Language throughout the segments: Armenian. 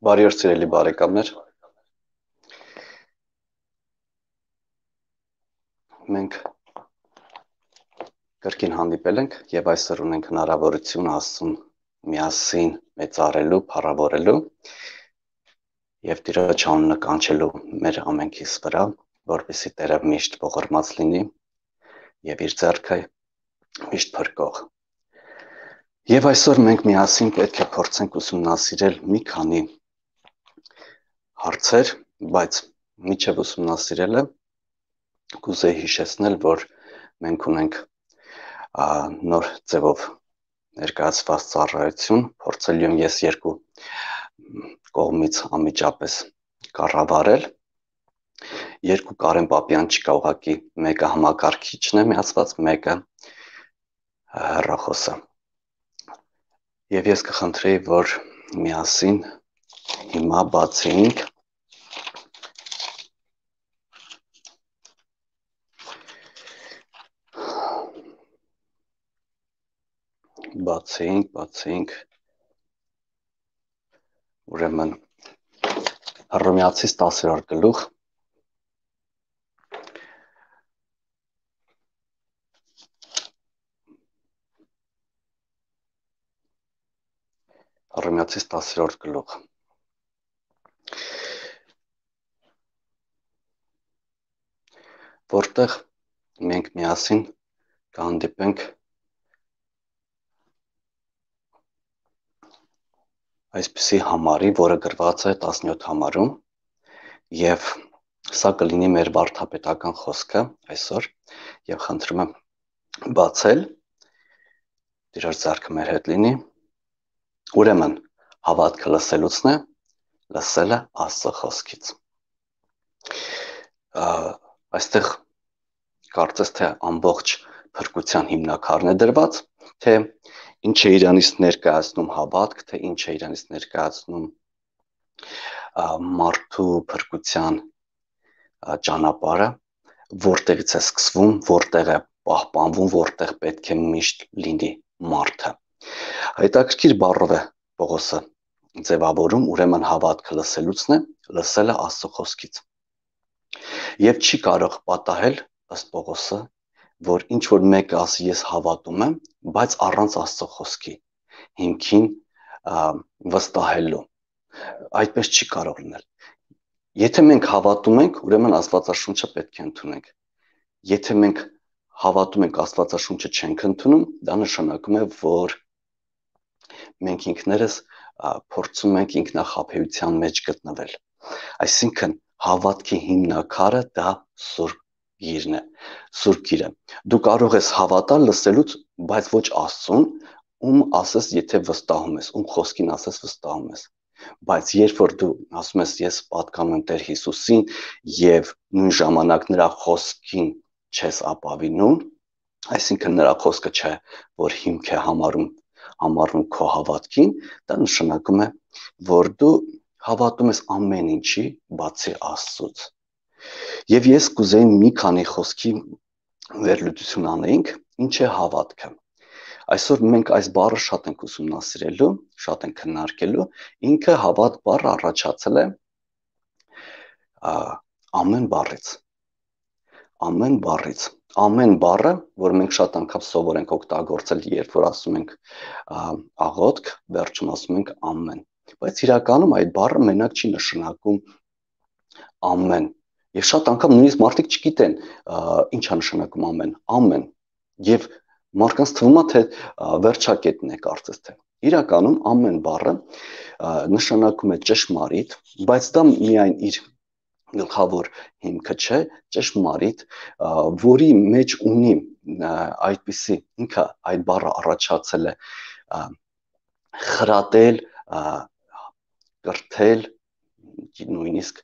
Բարի օր սիրելի բարեկամներ։ Մենք կրկին հանդիպել ենք եւ այսօր ունենք հնարավորություն Աստծուն միասին մեծարելու, փառավորելու եւ Տիրոջ անունը կանչելու մեր ամենքիս վրա, որպեսզի Տերը միշտ ողորմած լինի եւ իր ձեռքը միշտ փրկող։ Եվ այսօր մենք միասին պետք է փորձենք ուսումնասիրել մի քանի հարցեր, բայց միջև ուսումնասիրելը կուզեի հիշեցնել, որ մենք ունենք նոր ձևով ներկայացված ծառայություն, փորձելու եմ ես երկու կողմից անմիջապես կառավարել։ Երկու Կարեն Պապյան չկա, ուղղակի մեկը համակարգիչն է միացված, մեկը հեռախոսը։ Եվ ես կխնդրեի, որ միասին հիմա բացենք ուրեմն Հռոմեացիս 10-րդ գլուխ Հռոմեացիս 10-րդ գլուխ որտեղ մենք միասին կհանդիպենք այսպիսի համարի, որը գրված է 17 համարում, եւ սա կլինի մեր վարդապետական խոսքը այսօր, եւ խնդրում եմ բացել, Տիրոջ ձեռքը մեր հետ լինի, ուրեմն հավատքը լսելուցն է, լսելը Աստծո խոսքից։ Այստեղ կարծես թե ամբողջ փրկության հիմնաքարն է դրված, թե ինչ է իրանից ներկայացնում հավատք, թե ինչ է իրանից ներկայացնում մարդու փրկության ճանապարհը, որտեղից է սկսվում, որտեղ է պահպանվում, որտեղ պետք է միշտ լինի մարդը։ Հետաքրքիր բառով է Պողոսը ձևավորում, ուրեմն հավատքը լսելուցն է, լսելը Աստծո խոսքից։ Եվ չի կարող պատահել, ըստ Պողոսը, որ ինչ որ մեկը ասի ես հավատում եմ, բայց առանց Աստծո խոսքի հիմքին վստահելու։ Այդպես չի կարող լինել։ Եթե մենք հավատում ենք, ուրեմն Աստվածաշունչը պետք է ընդունենք։ Եթե մենք հավատում ենք, Աստվածաշունչը չենք ընդունում, դա նշանակում է, որ մենք ինքներս փորձում ենք ինքնախաբեության մեջ գտնվել։ Այսինքն հավատքի հիմնաքարը դա Սուրբ Գիրն է, Սուրբ Գիրը։ Դու կարող ես հավատալ լսելուց, բայց ոչ Աստծուն, ում ասես, եթե վստահում ես, ում խոսքին ասես վստահում ես։ Բայց երբ որ դու ասում ես ես պատկանում եմ Տեր Հիսուսին եւ նույն ժամանակ նրա խոսքին չես ապավինում, այսինքն նրա խոսքը չէ, որ հիմք է համարվում քո հավատքին, դա նշանակում է, որ դու հավատում ես ամեն ինչի, բացի Աստծուց։ Եվ ես կուզեի մի քանի խոսքի վերլուծություն անենք, ինչ է հավատքը։ Այսօր մենք այս բառը շատ ենք ուսումնասիրելու, շատ ենք քննարկելու, ինքը հավատ բառը առաջացել է ամեն բառից։ Ամեն բառը, որ մենք շատ անգամ սովոր ենք օգտագործել, երբ որ ասում ենք աղոթք, վերջում ասում ենք ամեն։ Բայց իրականում այդ բառը մենակ չի նշանակում ամեն։ Եվ շատ անգամ նույնիսկ մարդիկ չգիտեն ինչ է նշանակում ամեն։ Եվ մարդկանց թվում է, թե վերջակետն է կարծես թե։ Իրականում ամեն բառը նշանակում է ճշմարիտ, բայց դա միայն իր գլխավոր հիմքը չէ, ճշմարիտ, որի մեջ ունի այդպիսի ինքը այդ բառը առաջացել է խրատել, կրթել, նույնիսկ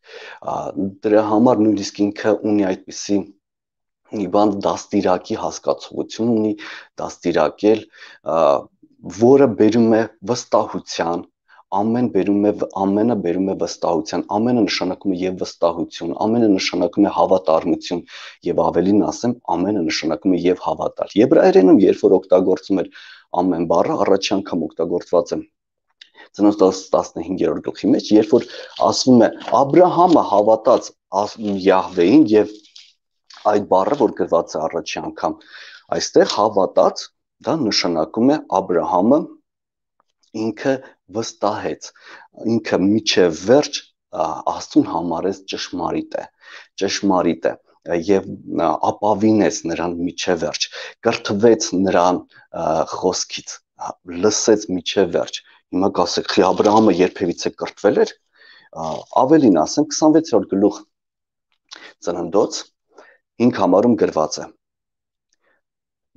դրա համար նույնիսկ ինքը ունի այդպիսի բան դաստիարակի հասկացողություն ունի, դաստիարակել, որը բերում է վստահության, ամենը բերում է վստահության, ամենը նշանակում է եւ վստահություն, ամենը նշանակում է հավատարմություն եւ ավելին ասեմ, ամենը նշանակում է եւ հավատալ։ Եբրայերենում երբ որ օգտագործում էր ամեն բառը, առաջի անգամ օգտագործված է Ծնոց 15-րդ գլխի մեջ, երբ որ ասվում է Աբրահամը հավատաց Յահվեին եւ այդ բառը, որ գրված է առաջի անգամ այստեղ հավատաց, դա նշանակում է Աբրահամը ինքը վստահեց, ինքը միջև վերջ Աստծուն համարեց ճշմարիտ է եւ ապավինեց նրան միջև վերջ, կրթվեց նրան խոսքից, լսեց միջև վերջ։ Հիմա կասեք, խի Աբրահամը երբևիցե կրթվել էր, ավելին ասեմ 26-րդ գլուխ Ծննդոց 5 համարում գրված է.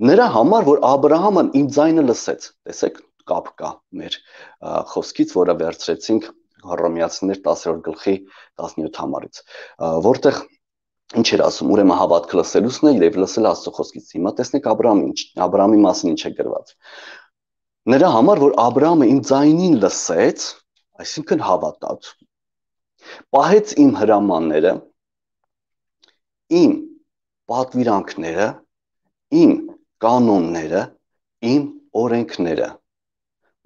Նրա համար, որ Աբրահամն իմ ձայնը լսեց, տեսեք, կապ կա մեր խոսքից, որը վերցրեցինք Հռոմեացիներ 10-րդ գլխի 17 համարից, որտեղ ինչ էր ասում, ուրեմն հավատքը լսելուցն է եւ լսել Աստծո խոսքից։ Հիմա տեսնեք Աբրահամի մասին ինչ է գրված։ Նրա համար, որ Աբրահամը իմ ձայնին լսեց, այսինքն հավատաց, պահեց իմ հրամանները, իմ պատվիրանքները, իմ կանոնները, իմ օրենքները։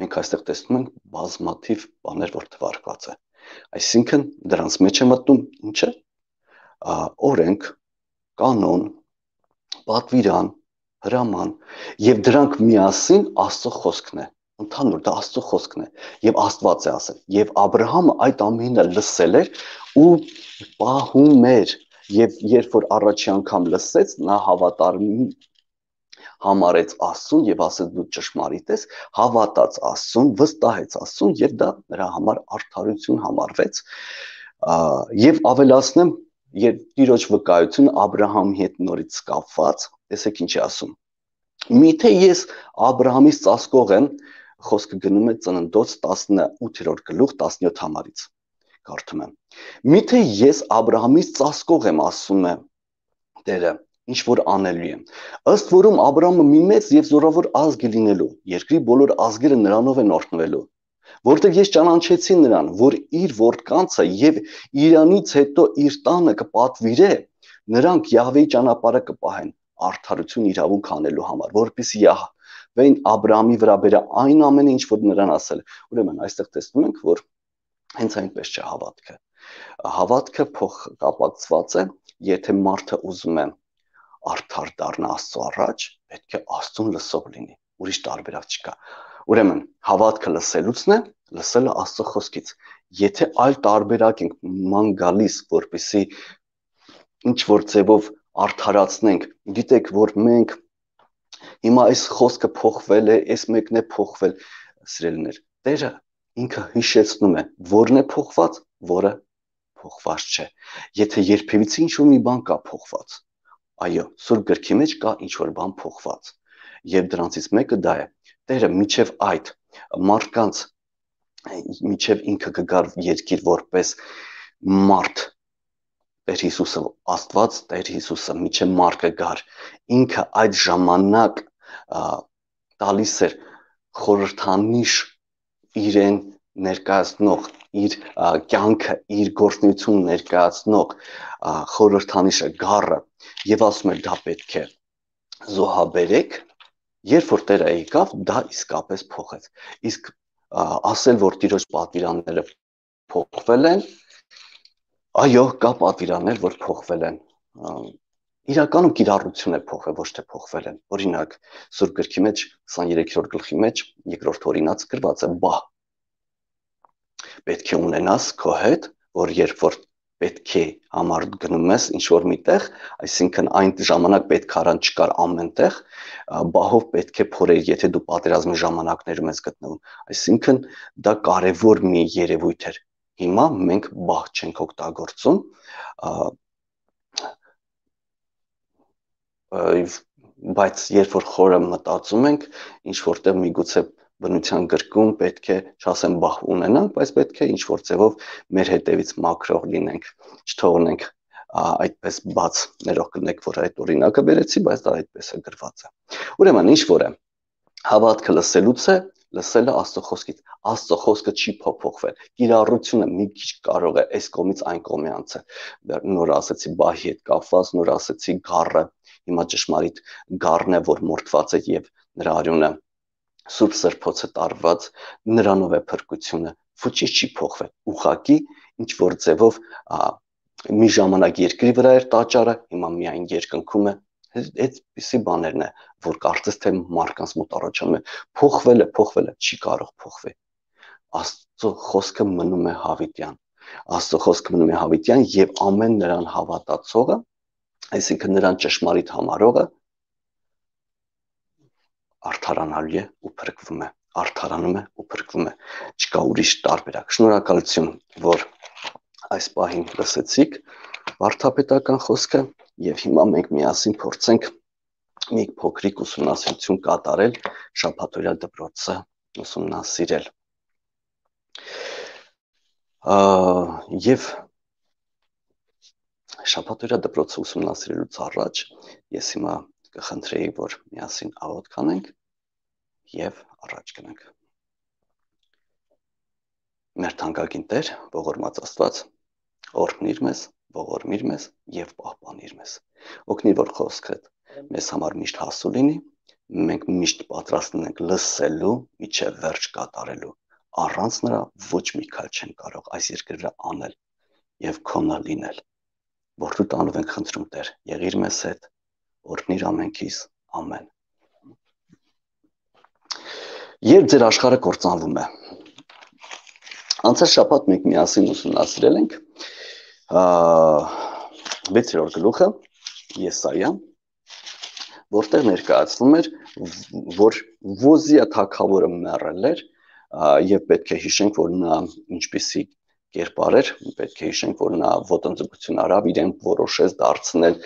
Մենք այստեղ տեսնում ենք բազմաթիվ բաներ, որ թվարկված է։ Այսինքն դրանց մեջ է մտնում ինչը։ Օրենք, կանոն, պատվիրան, հրաման եւ դրանք միասին Աստծո խոսքն է։ Ընդհանուր դա Աստծո խոսքն է եւ Աստված է ասել։ Եվ Աբրահամը այդ ամենը լսել էր ու պահում էր եւ երբ որ առաջի անգամ լսեց, նա հավատարիմ համարեց Աստծուն եւ ասեց դու ճշմարիտ ես, հավատաց Աստծուն, վստահեց Աստծուն եւ դա նրա համար արդարություն համարվեց եւ ավելացնեմ երբ Տիրոջ վկայությունը Աբրահամի հետ նորից կապված, տեսեք ինչ է ասում։ Միթե ես Աբրահամից ծածկող եմ, խոսքը գնում է Ծննդոց 18-րդ գլուխ 17 համարից։ Կարդում եմ. Միթե ես Աբրահամից ծածկող եմ, ասում է Տերը, ինչ որ անելու եմ։ Ըստ որում Աբրահամը մի մեծ եւ զորավոր ազգ է լինելու, երկրի բոլոր ազգերը նրանով են օրհնվելու, որտեղ ես ճանաչեցի նրան, որ իր որդկանցը եւ իրանից հետո իր տանը կպատվիրե, նրանք Յահվեի ճանապարհը կպահեն, արդարություն իրավունք անելու համար, որպեսզի Յահվեին Աբրահամի վրա բերե այն ամենը, ինչ որ նրան ասել։ Ուրեմն այստեղ տեսնում ենք, որ հենց այնպես չէ հավատքը։ Հավատքը փոխկապակցված է, եթե մարդը ուզում է արդար դառնա Աստծո առաջ, պետք է Աստծուն լսող լինի, ուրիշ տարբերակ չկա։ Ուրեմն հավատքը լսելուցն է, լսելը Աստծո խոսքից։ Եթե այլ տարբերակ ենք ման գալիս, որպեսզի ինչ որ ձևով արդարացնենք, գիտեք, որ մենք հիմա այս խոսքը փոխվել է, այս մեկն է փոխվել, սիրելիներ, Տերը ինքը հիշեցնում է, որն է փոխված, որը փոխված չէ։ Եթե երբևիցե ինչ-որ մի բան կա փոխված, այո, Սուրբ գրքի մեջ կա ինչ-որ բան փոխված։ Եվ դրանցից մեկը դա է։ Տերը միջև այդ մարդկանց միջև ինքը կգար երկիր որպես մարդ, Տեր Հիսուսը Աստված, Տեր Հիսուսը միջև մարդ կգար, ինքը այդ ժամանակ տալիս էր խորհրդանիշ իրեն ներկայացնող, իր կյանքը, իր գործունեությունը ներկայացնող խորհրդանիշը գառը եւ ասում էր դա պետք է զոհաբերեք, երբ որ Տերը եկավ, դա իսկապես փոխեց։ Իսկ ասել, որ Տիրոջ պատվիրանները փոխվել են, այո, կա պատվիրաններ, որ փոխվել են։ Իրականում կիրառություն է փոխվել, ոչ թե փոխվել են։ Օրինակ, Սուրբ գրքի մեջ 23-րդ գլխի մեջ երկրորդ օրինաց գրված է բահ։ Պետք է ունենաս քո հետ, որ երբ որ պետք է համար գնում ես ինչ որ միտեղ, այսինքն այն ժամանակ պետք առան չկար ամենտեղ, բահով պետք է փորել, եթե դու պատերազմի ժամանակներում ես գտնվում։ Այսինքն դա կարևոր մի երևույթ էր։ Հիմա մենք բահ չենք օգտագործում, բայց երբ որ խորը մտածում ենք, ինչ որտեղ միգուցե բնության գրքում պետք է, չասեմ բահ ունենանք, բայց պետք է ինչ որ ձևով մեր հետևից մաքրող լինենք, չթողնենք այդպես բաց, ներող կլինեք, որ այդ օրինակը բերեցի, բայց դա այդպես է գրված է։ Ուրեմն ինչ որ է, հավատքը լսելուց է, լսելը Աստծո խոսքից։ Աստծո խոսքը չի փոփոխվել։ Կիրառությունը մի քիչ կարող է այս կողմից այն կողմի անցել։ Նոր ասեցի բահի հետ կապված, նոր ասեցի գառը, հիմա ճշմարիտ գառն է, որ մորթված է եւ նրա արյունը Սուրբ Սրբոցը տարված, նրանով է փրկությունը, ոչինչ չի փոխվել, ուղղակի ինչ որ ձևով մի ժամանակ երկրի վրա էր տաճարը, հիմա միայն երկնքում է, այդպիսի բաներն է, որ կարծես թե մարդկանց մոտ առաջանում է, փոխվել է, չի կարող փոխվել, Աստծո խոսքը մնում է հավիտյան, Աստծո խոսքը մնում է հավիտյան եւ ամեն նրան հավատացողը, այսինքն նրան ճշմարիտ համարողը արդարանալու է ու փրկվում է, արդարանում է ու փրկվում է, չկա ուրիշ տարբերակ։ Շնորհակալություն, որ այս պահին լսեցիք վարդապետական խոսքը եւ հիմա մենք միասին փորձենք մի փոքրիկ ուսումնասիրություն կատարել շաբաթօրյա դպրոցը ուսումնասիրել։ Եվ շաբաթօրյա դպրոցը ուսումնասիրելուց առաջ ես հիմա կխնդրեի, որ միասին աղոթք անենք եւ առաջ գնանք։ Մեր թանկագին Տեր, ողորմած Աստված, օրհնիր մեզ, ողորմիր մեզ եւ պահպանիր մեզ։ Օգնիր, որ խոսքդ մեզ համար միշտ հասու լինի, մենք միշտ պատրաստ ենք լսելու, միջև վերջ կատարելու։ Առանց նրա ոչ մի քայլ չեն կարող այս երկրի վրա անել եւ քոնը լինել։ Որդու տանով ենք խնդրում Տեր, եղիր մեզ հետ, օրհնիր ամենքիս, ամեն։ Երբ ձեր աշխարհը կործանվում է, անցած շաբաթ մենք միասին ուսումնասիրել ենք 6-րդ գլուխը Եսայա, որտեղ ներկայացվում էր, որ Ոզիա թագավորը մեռել էր եւ պետք է հիշենք, որ նա ինչպիսի կերպար էր, պետք է հիշենք, որ նա ոտնձգություն արավ, իրեն որոշեց դարձնել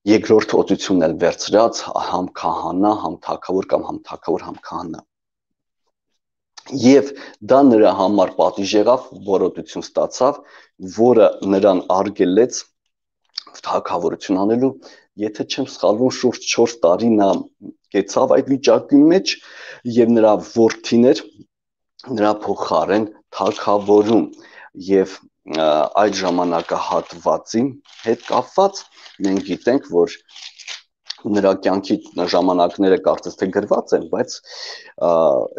երկրորդ օծությունն էլ վերցրած, համ քահանա, համ թագավոր կամ համ թագավոր, համ քահանա։ Եվ դա նրա համար պատիժ եղավ, որոտություն ստացավ, որը նրան արգելեց թագավորություն անելու, եթե չեմ սխալվում, շուրջ 4 տարի նա կեցավ այդ վիճակի մեջ եւ նրա որդիներ նրա փոխարեն թագավորում եւ այդ ժամանակահատվածի հետ կապված մենք գիտենք, որ նրա կյանքի ժամանակները կարծես թե գրված են, բայց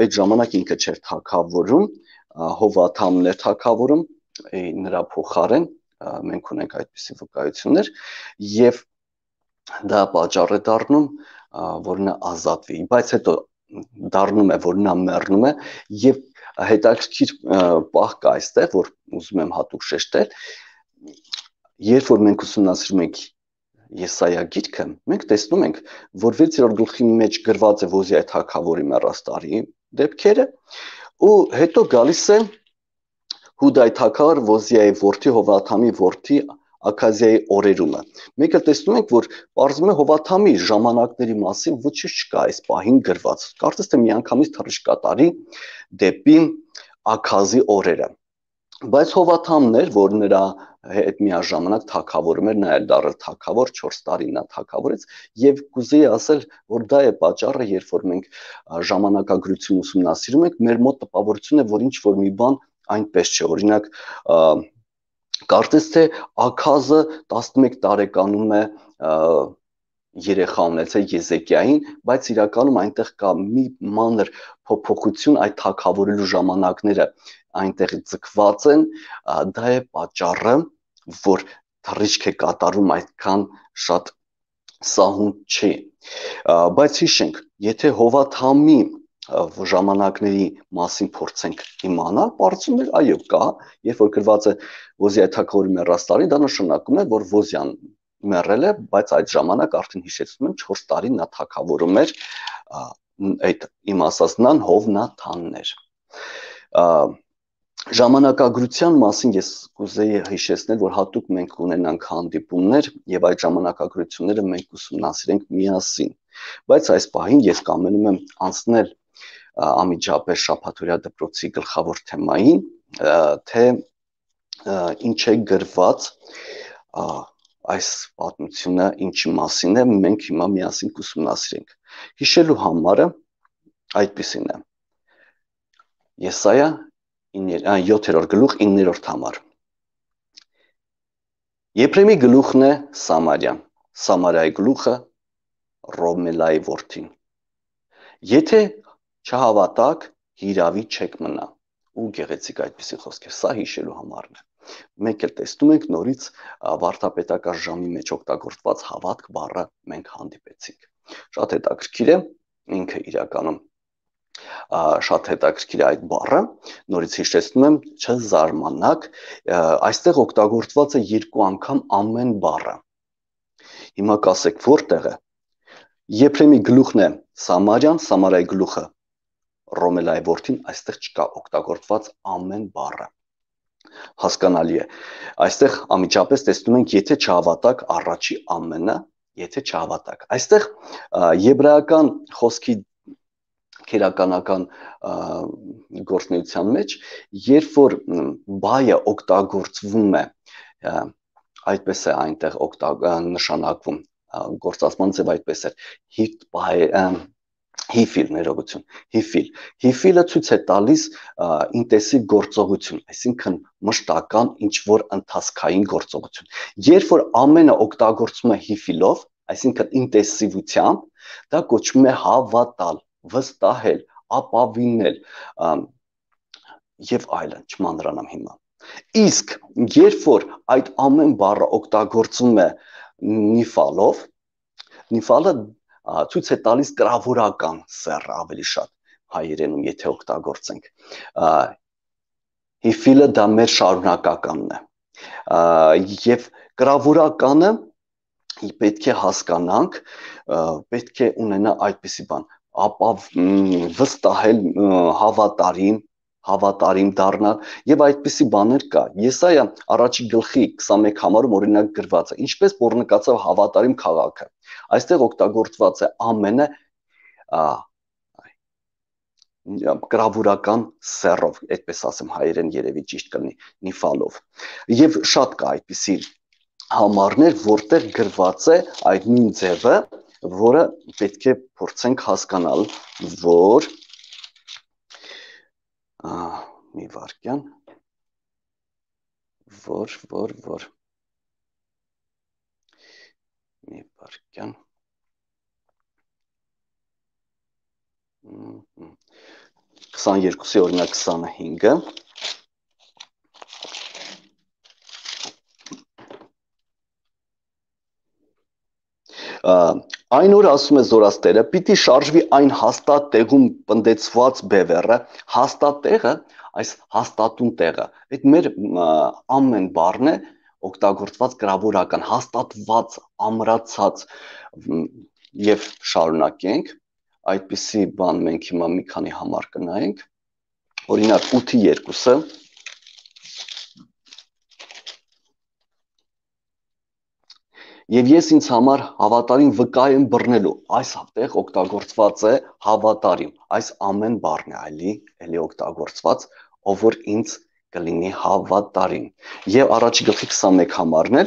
այդ ժամանակ ինքը չէր թագավորում, Հովաթամն էր թագավորում նրա փոխարեն, մենք ունենք այդպիսի վկայություններ եւ դա պատճառ է դառնում, որ նա ազատվի, բայց հետո դառնում է, որ նա մեռնում է եւ հետաքրքիր պահ կա այստեղ, որ ուզում եմ հատուկ շեշտել, երբ որ մենք ուսումնասիրում ենք Եսայա գիրքը, մենք տեսնում ենք, որ 6-րդ գլխի մեջ գրված է Ոզիայի թագավորի մեռաստարի դեպքերը, ու հետո գալիս է Հուդայի թագավոր Ոզիայի որդի Հովաթամի որդի Աքազիայի օրերումը։ Մենք տեսնում ենք, որ պարզվում է Հովաթամի ժամանակների մասին ոչինչ չկա այս պահին գրված։ Կարծես թե միանգամից թռիչք կատարի դեպի Աքազի օրերը։ Բայց Հովաթամն էր, որ նրա հետ միաժամանակ թագավորում էր, նա էլ դառել թագավոր 4 տարի նա թագավորեց եւ կուզեի ասել, որ դա է պատճառը, երբ որ մենք ժամանակագրություն ուսումնասիրում ենք, մեր մոտ տպավորություն է, որ ինչ որ մի բան այնպես չէ, օրինակ կարծես թե Աքազը 11 տարեկանում է երեխա ունեցել Եզեկիային, բայց իրականում այնտեղ կա մի մանր փոփոխություն, այդ թագավորելու ժամանակները այնտեղ ձգված են, դա է պատճառը, որ թռիչք է կատարում այդքան շատ սահուն չի, բայց հիշենք, եթե Հովաթամի ժամանակների մասին փորձենք իմանալ, պարզվում է, այո, կա, երբ որ գրված է Ոզիայի թագավորի մեռաստարին, դա նշանակում է, որ Ոզիան մեռել է, բայց այդ ժամանակ արդեն հիշեցնում եմ 4 տարի նա թագավորում էր, այդ իմ ասած նան Հովնաթանն էր։ Ժամանակագրության մասին ես կուզեի հիշեցնել, որ հատուկ մենք ունենանք հանդիպումներ եւ այդ ժամանակագրությունները մենք ուսումնասիրենք միասին, բայց այս պահին ես կամենում եմ անցնել անմիջապես շաբաթօրյա դպրոցի գլխավոր թեմային, թե ինչ է գրված այս պատմությունը ինչի մասին է, մենք հիմա միասին կուսումնասիրենք։ Հիշելու համարը այդպիսին է։ Եսայա 7-րդ գլուխ 9-րդ համար։ Եփրեմի գլուխն է Սամարիա, Սամարիայի գլուխը Ռոմելայի որդին։ Եթե չհավատակ, հիրավի չեք մնա։ Ու գեղեցիկ այդպիսի խոսքեր, սա հիշելու համարն է։ Մենք էլ տեսնում ենք նորից վարդապետական ժամի մեջ օգտագործված հավատք բառը մենք հանդիպեցինք։ Շատ հետաքրքիր է, ինքը իրականում շատ հետաքրքիր է այդ բառը, նորից հիշեցնում եմ, չզարմանաք, այստեղ օգտագործված է 2 անգամ ամեն բառը։ Հիմա կասեք որտեղ է։ Եփրեմի գլուխն է Սամարյան, Սամարայի գլուխը Ռոմելայի որդին, այստեղ չկա օգտագործված ամեն բառը։ Հասկանալի է։ Այստեղ անմիջապես տեսնում ենք, եթե չհավատակ առաջի ամենը, եթե չհավատակ։ Այստեղ եբրայական խոսքի քերականական գործունեության մեջ, երբ որ բայը օգտագործվում է, այդպես է այնտեղ նշանակվում, գործածման ձև այդպես է, հիֆիլ, ներողություն, հիֆիլը ցույց է տալիս ինտենսիվ գործողություն, այսինքն մշտական ինչ-որ ընթացքային գործողություն։ Երբ որ ամենը օգտագործվում է հիֆիլով, այսինքն ինտենսիվությամբ, դա կոչվում է հավատալ, վստահել, ապավինել եւ այլն, չմանրանամ հիմա։ Իսկ երբ որ այդ ամեն բառը օգտագործվում է նիֆալով, նիֆալը ցույց է տալիս կրավորական սեռը ավելի շատ հայերենում, եթե օգտագործենք։ Հիֆիլը դա մեր շարունակականն է։ Եվ կրավորականը պետք է հասկանանք, պետք է ունենա այդպիսի բան, վստահել, հավատարիմ դառնալ եւ այդպիսի բաներ կա։ Եսայա առաջի գլխի 21 համարում օրինակ գրված է, ինչպես բռնկացավ հավատարիմ քաղաքը։ Այստեղ օգտագործված է ամենը կրավորական սեռով, այդպես ասեմ հայերեն երևի ճիշտ կլինի, նիֆալով։ Եվ շատ կա այդպիսի համարներ, որտեղ գրված է այդ նույն ձևը, որը պետք է փորձենք հասկանալ, որ մի վարքյան, մի վարքյան, 22-ի օրինակ 25-ը, այն օր ասում է Զորաստերը, պիտի շարժվի այն հաստատ տեղում պնդեցված բևեռը, հաստատ տեղը, այս հաստատուն տեղը, այդ մեր ամեն բառն է օգտագործված կրավորական, հաստատված, ամրացած եւ շարունակենք, այդպիսի բան մենք հիմա մի քանի համար կնայենք, օրինակ 8-2-ը, Եվ ես ինձ համար հավատարիմ վկա եմ բռնելու, այս տեղ օգտագործված է հավատարիմ, այս ամեն բառն է էլի օգտագործված, ով որ ինձ կլինի հավատարիմ։ Եվ առաջի գլխի 21 համարն է,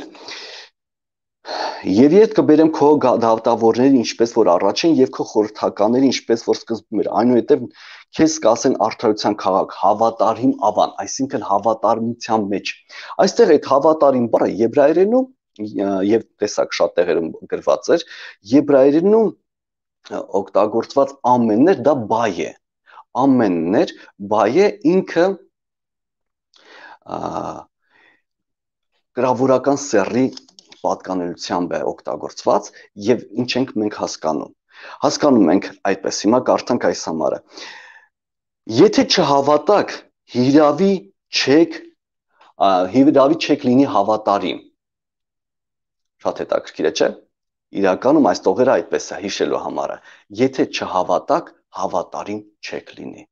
Եվ ետ կբերեմ քո դատավորներին, ինչպես որ առաջ են, եւ քո խորհրդականներին, ինչպես որ սկզբում էր, այնուհետև քեզ կասեն արդարության քաղաք, հավատարիմ ավան, այսինքն հավատարմության մեջ։ Այստեղ այդ հավատարիմ բառը եբրայերենում եւ տեսակ շատ տեղերում գրված էր, եբրայերենում օգտագործված ամեններ դա բայ է, ամեններ բայ է, ինքը գրավորական սեռի պատկանելիությամբ է օգտագործված եւ ինչ ենք մենք հասկանում ենք այդպես, հիմա կարդանք այս համարը, եթե չհավատակ, հիրավի չեք լինի հավատարիմ, շատ հետաքրքիր է, չէ՞, իրականում այս տողերը այդպես է հիշելու համարը, եթե չհավատակ, հավատարիմ չեք լինի,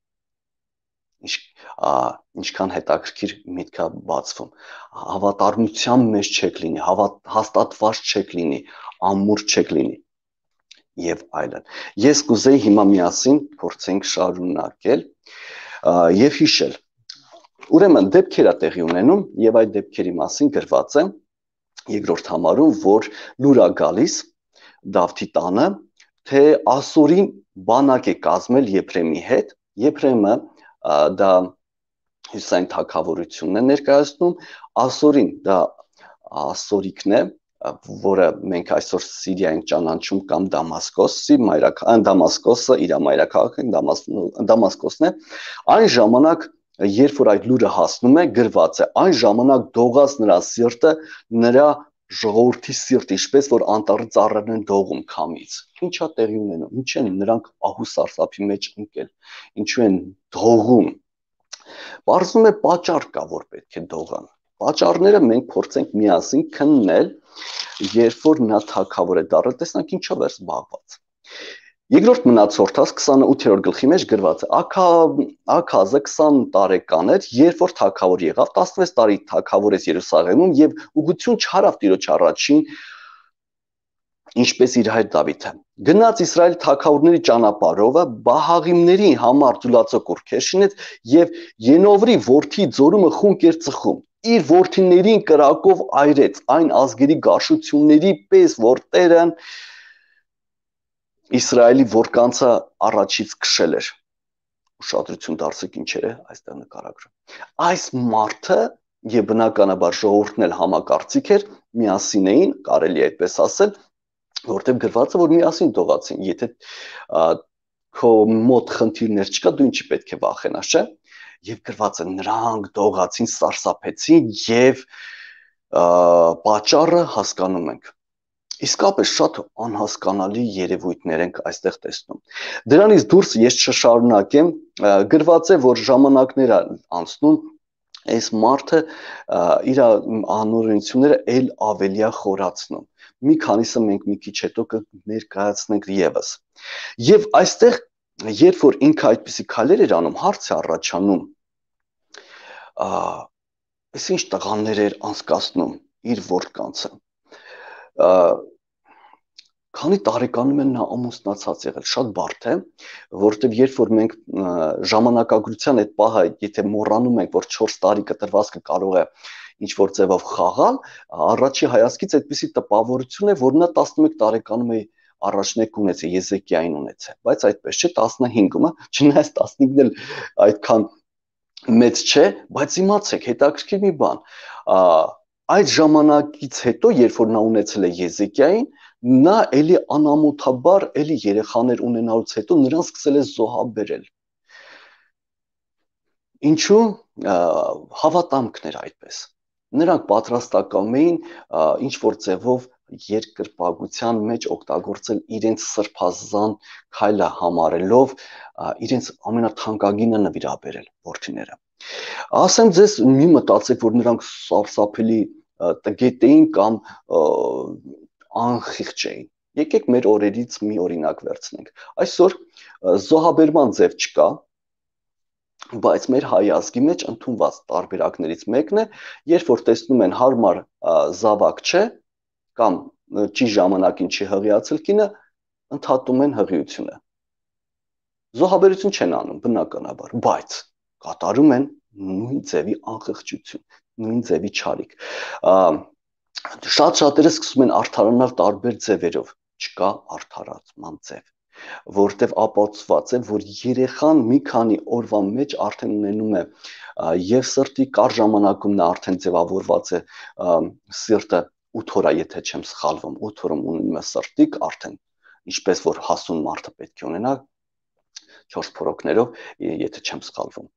ինչքան հետաքրքիր միտք է բացվում, հավատարմության մեջ չեք լինի, հաստատված չեք լինի, ամուր չեք լինի եւ այլն։ Ես կուզեի հիմա միասին փորձենք շարունակել եւ հիշել։ Ուրեմն դեպքեր է տեղի ունենում եւ այդ դեպքերի մասին գրված է երկրորդ համարում, որ լուր է գալիս Դավթի տանը, թե Ասորին բանակ է կազմել Եփրեմի հետ, Եփրեմը դա հյուսային թագավորությունն է ներկայացնում, Ասորին դա ասորիկն է, որը մենք այսօր Սիրիա ենք ճանաչում կամ Դամասկոսի Դամասկոսը իր մայրաքաղաքը Դամասկոսն է, այն ժամանակ երբ որ այդ լուրը հասնում է, գրված է, այն ժամանակ դողաց նրա սիրտը, նրա ժողովրդի սիրտ, ինչպես որ անտառի ծառերն են դողում քամից։ Ինչա տեղի ունենում, ինչ են նրանք ահու սարսափի մեջ ընկել, ինչու են դողում։ Պարզվում է պատճառ կա, որ պետք է դողան։ Պատճառները մենք փորձենք միասին քննել, երբ որ նա թագավոր է դառել, տեսնանք ինչով էր զբաղված։ Երկրորդ մնացորդաց 28-րդ գլխի մեջ գրված է. Աքազը 20 տարեկան էր, երբ որ թագավոր եղավ, 16 տարի թագավորեց Երուսաղեմում եւ ուղղություն չարավ Տիրոջ առաջին, ինչպես իր հայր Դավիթը։ Գնաց Իսրայել թագավորների ճանապարհով, Բահաղիմների համար ձուլածո կուռքեր շինեց եւ Ենովրի որդի ձորումը խունկ էր ծխում։ Իր որդիներին կրակով այրեց այն ազգերի գարշությունների պես, որ Տերը Իսրայելի որկանցը առաջից քշել էր։ Ուշադրություն դարձեք ինչեր է այստեղ նկարագրում։ Այս մարդը եւ բնականաբար ժողովուրդն էլ համակարծիք էր, միասին էին, կարելի է այդպես ասել, որտեղ գրված է որ միասին դողացին, եթե քո մոտ խնդիրներ չկա, դու ինչի պետք է վախենաս, չէ՞։ Եվ գրված է նրանք դողացին, սարսափեցին եւ պատճառը հասկանում ենք։ Իսկապես շատ անհասկանալի երևույթներ ենք այստեղ տեսնում։ Դրանից դուրս ես չշարունակեմ, գրված է, որ ժամանակներ անցնում, այս մարդը իր անօրենությունները ել ավելի խորացնում։ Մի քանիսը մենք մի քիչ հետո կներկայացնենք եւս։ Եվ այստեղ, երբ որ ինքը այդպիսի քայլեր էր անում, հարց է առաջանում, այս ինչ տղաներ էր անցկացնում իր ворկանցը։ Քանի տարեկանում են նա ամուսնացած եղել, շատ բարդ է, որովհետև երբ որ մենք ժամանակագրության այդ պահը, եթե մոռանում ենք, որ 4 տարի կտրվածքը կարող է ինչ որ ձևով խաղալ, առաջի հայացքից այդպիսի տպավորություն է, որ նա 11 տարեկանում է առաջնեկ ունեցել, Եզեկիային ունեցել, բայց այդպես չէ, 15-ում, չնայած 15-ն էլ այդքան մեծ չէ, բայց իմացեք, հետաքրքիր մի բան, այդ ժամանակից հետո, երբ որ նա ունեցել է Եզեկիային, նա էլի անամոթաբար էլի երեխաներ ունենալուց հետո նրան սկսել է զոհաբերել։ Ինչու հավատամքներ այդպես։ Նրանք պատրաստակամ էին ինչ որ ձևով երկրպագության մեջ օգտագործել իրենց սրբազան քայլը համարելով իրենց ամենաթանկագինը նվիրաբերել որդիները։ Ասեմ ձեզ, մի մտածեք, որ նրանք սարսափելի տգետ էին կամ անխիղճ էին։ Եկեք մեր օրերից մի օրինակ վերցնենք։ Այսօր զոհաբերման ձև չկա, բայց մեր հայ ազգի մեջ ընդունված տարբերակներից մեկն է, երբ որ տեսնում են հարմար զավակ չէ կամ ճիշտ ժամանակին չի հղիացել կինը, ընդհատում են հղիությունը։ Զոհաբերություն չեն անում բնականաբար, բայց կատարում են նույն ձևի անխղճություն, նույն ձևի չարիք։ Շատ-շատերը սկսում են արդարանալ տարբեր ձևերով, չկա արդարացման ձև, որտեղ ապացուցված է, որ երեխան մի քանի օրվա մեջ արդեն ունենում է եւ սրտի կար ժամանակում նա արդեն ձևավորված է սիրտը 8 օր, եթե չեմ սխալվում, 8 օրում ունենում է սրտիկ արդեն, ինչպես որ հասուն մարդը պետք է ունենա 4 փորոքներով, եթե չեմ սխալվում։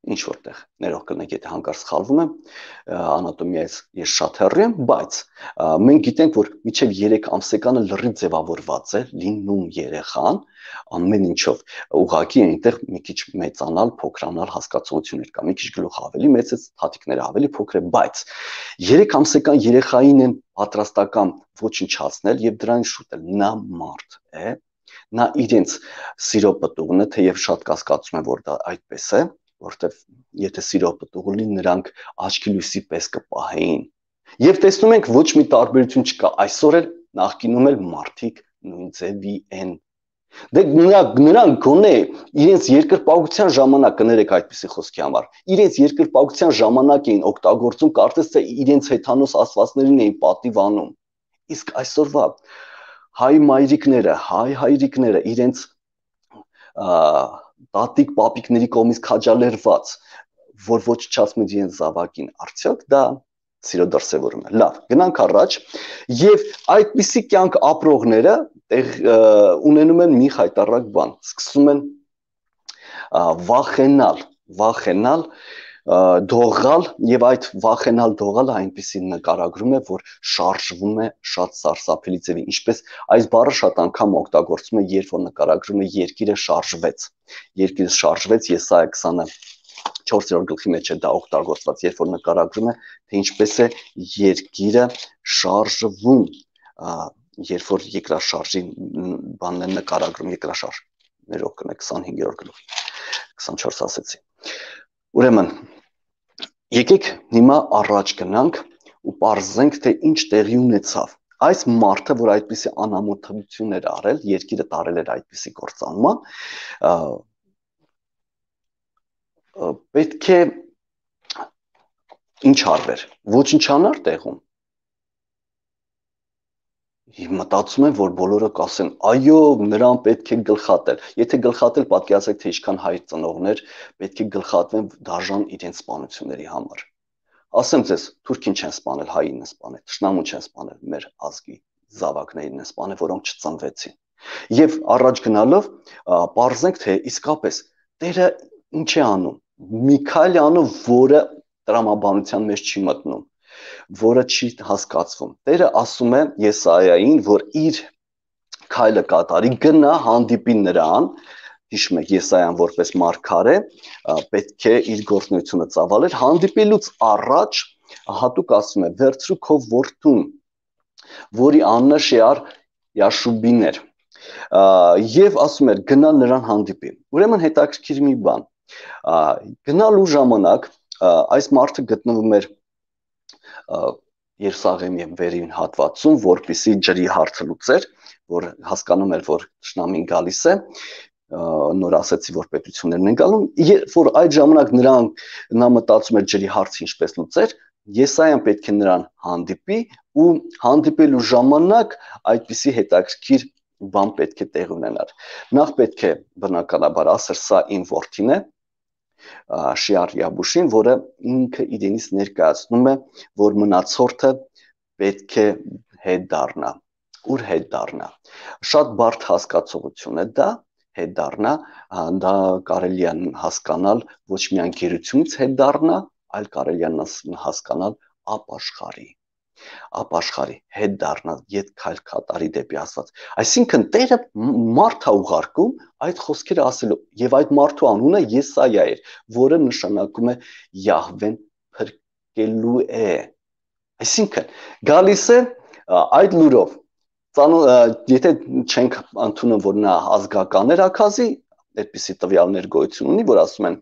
Ինչ որտեղ ներող կլինեք, եթե հանկարծ սխալվում եմ, անատոմիայից ես շատ հեռու եմ, բայց մենք գիտենք, որ մինչև 3 ամսեկանը լրիվ ձևավորված է լինում երեխան, ամեն ինչով, ուղղակի այնտեղ մի քիչ մեծանալ, փոքրանալ հասկացություններ կա, մի քիչ գլուխ ավելի մեծ է, թաթիկները ավելի փոքր է, բայց 3 ամսեկան երեխային են պատրաստական ոչնչացնել եւ դրան շուտել, նա մարդ է, նա իրենց սիրո պտուղն է, թեև շատ կասկածում եմ, որ դա այդպես է, որտեվ եթե սիրո պտուղ լինի, նրանք աչքի լույսի պես կպահեին։ Եվ տեսնում ենք ոչ մի տարբերություն չկա, այսօր էլ նախկինում էլ մարդիկ նույն ձևի են։ Դե նրանք գոնե իրենց երկրպագության ժամանակ, կներեք այդպիսի խոսքի համար, իրենց երկրպագության ժամանակ էին օգտագործում, կարծես թե իրենց հեթանոս աստվածներին էին պատիվ անում։ Իսկ այսօրվա հայ մայրիկները, հայ հայրիկները իրենց տատիկ պապիկների կողմից քաջալերված, որ ոչնչացնում են իրենց զավակին, արդյոք դա սիրո դրսևորում է։ Լավ, գնանք առաջ եւ այդպիսի կյանք ապրողները ունենում են մի խայտառակ բան, սկսում են վախենալ, դողալ եւ այդ վախենալ դողալը այնպեսի նկարագրում է, որ շարժվում է շատ սարսափելի ձևի, ինչպես այս բառը շատ անգամ օգտագործվում է, երբ որ նկարագրում է երկիրը շարժվեց, Եսայա 24-րդ գլխի մեջ է դա օգտագործված, երբ որ նկարագրում է, թե ինչպես է երկիրը շարժվում, երբ որ երկրաշարժի բանն է նկարագրում, երկրաշարժ, ներող կնեք 25-րդ գլուխ, 24 ասեցի։ Ուրեմն, եկեք հիմա առաջ գնանք ու պարզենք, թե ինչ տեղի ունեցավ։ Այս մարդը, որ այդպիսի անամոթություն էր արել, երկիրը տարել էր այդպիսի կործանման, պետք է ինչ արվեր, ոչնչանար տեղում։ Մտածում եմ, որ բոլորը կասեն, այո, նրան պետք է գլխատել։ Եթե գլխատել, պատկերացրեք, թե ինչքան հայր ծնողներ պետք է գլխատվեն դաժան իրենց սպանությունների համար։ Ասեմ ձեզ, թուրքին չեն սպանել, հային են սպանել, թշնամուն չեն սպանել, մեր ազգի զավակներին են սպանել, որոնք չծնվեցին։ Եվ առաջ գնալով, պարզենք, թե իսկապես Տերը ինչ է անում։ Միքայել է անում, որը տրամաբանության մեջ չի մտնում, որը չի հասկացվում։ Տերը ասում է Եսայային, որ իր քայլը կատարի, գնա հանդիպի նրան, հիշում եք Եսայան որպես մարգարե, պետք է իր գործունեությունը ծավալեր, հանդիպելուց առաջ հատուկ ասում է, վերցրու քո որդուն, որի անունը Շեար Յաշուբին էր, եւ ասում էր գնա նրան հանդիպի։ Ուրեմն հետաքրքիր մի բան, գնալու ժամանակ այս մարդը գտնվում էր Երուսաղեմի վերին հատվածում, որպեսզի ջրի հարցը լուծեր, որ հասկանում էր, որ թշնամին գալիս է, նոր ասեցի, որ պետություններն են գալու, որ այդ ժամանակ նա մտածում էր ջրի հարցը ինչպես լուծեր, Եսայան պետք է նրան հանդիպի ու հանդիպելու ժամանակ այդպիսի հետաքրքիր բան պետք է տեղ ունենար։ Նախ պետք է բնականաբար ասեր, սա իմ որդին է, Շեար Յաբուշին, որը ինքը իրենից ներկայացնում է, որ մնացորդը պետք է հետ դառնա։ Ուր հետ դառնա։ Շատ բարդ հասկացողություն է դա, հետ դառնա, դա կարելի է հասկանալ ոչ միայն գերությունից հետ դառնա, այլ կարելի է հասկանալ ապաշխարի, հետ դառնալ, ետ քայլ կատարի դեպի Աստված։ Այսինքն Տերը մարդ է ուղարկում այդ խոսքերը ասելու, եւ այդ մարդու անունը Եսայա էր, որը նշանակում է Յահվեն փրկելու է։ Այսինքն գալիս է այդ լուրով, եթե չենք ընդունում, որ նա ազգական էր ակազի, այդպիսի տվյալներ գոյություն ունի, որ ասում են,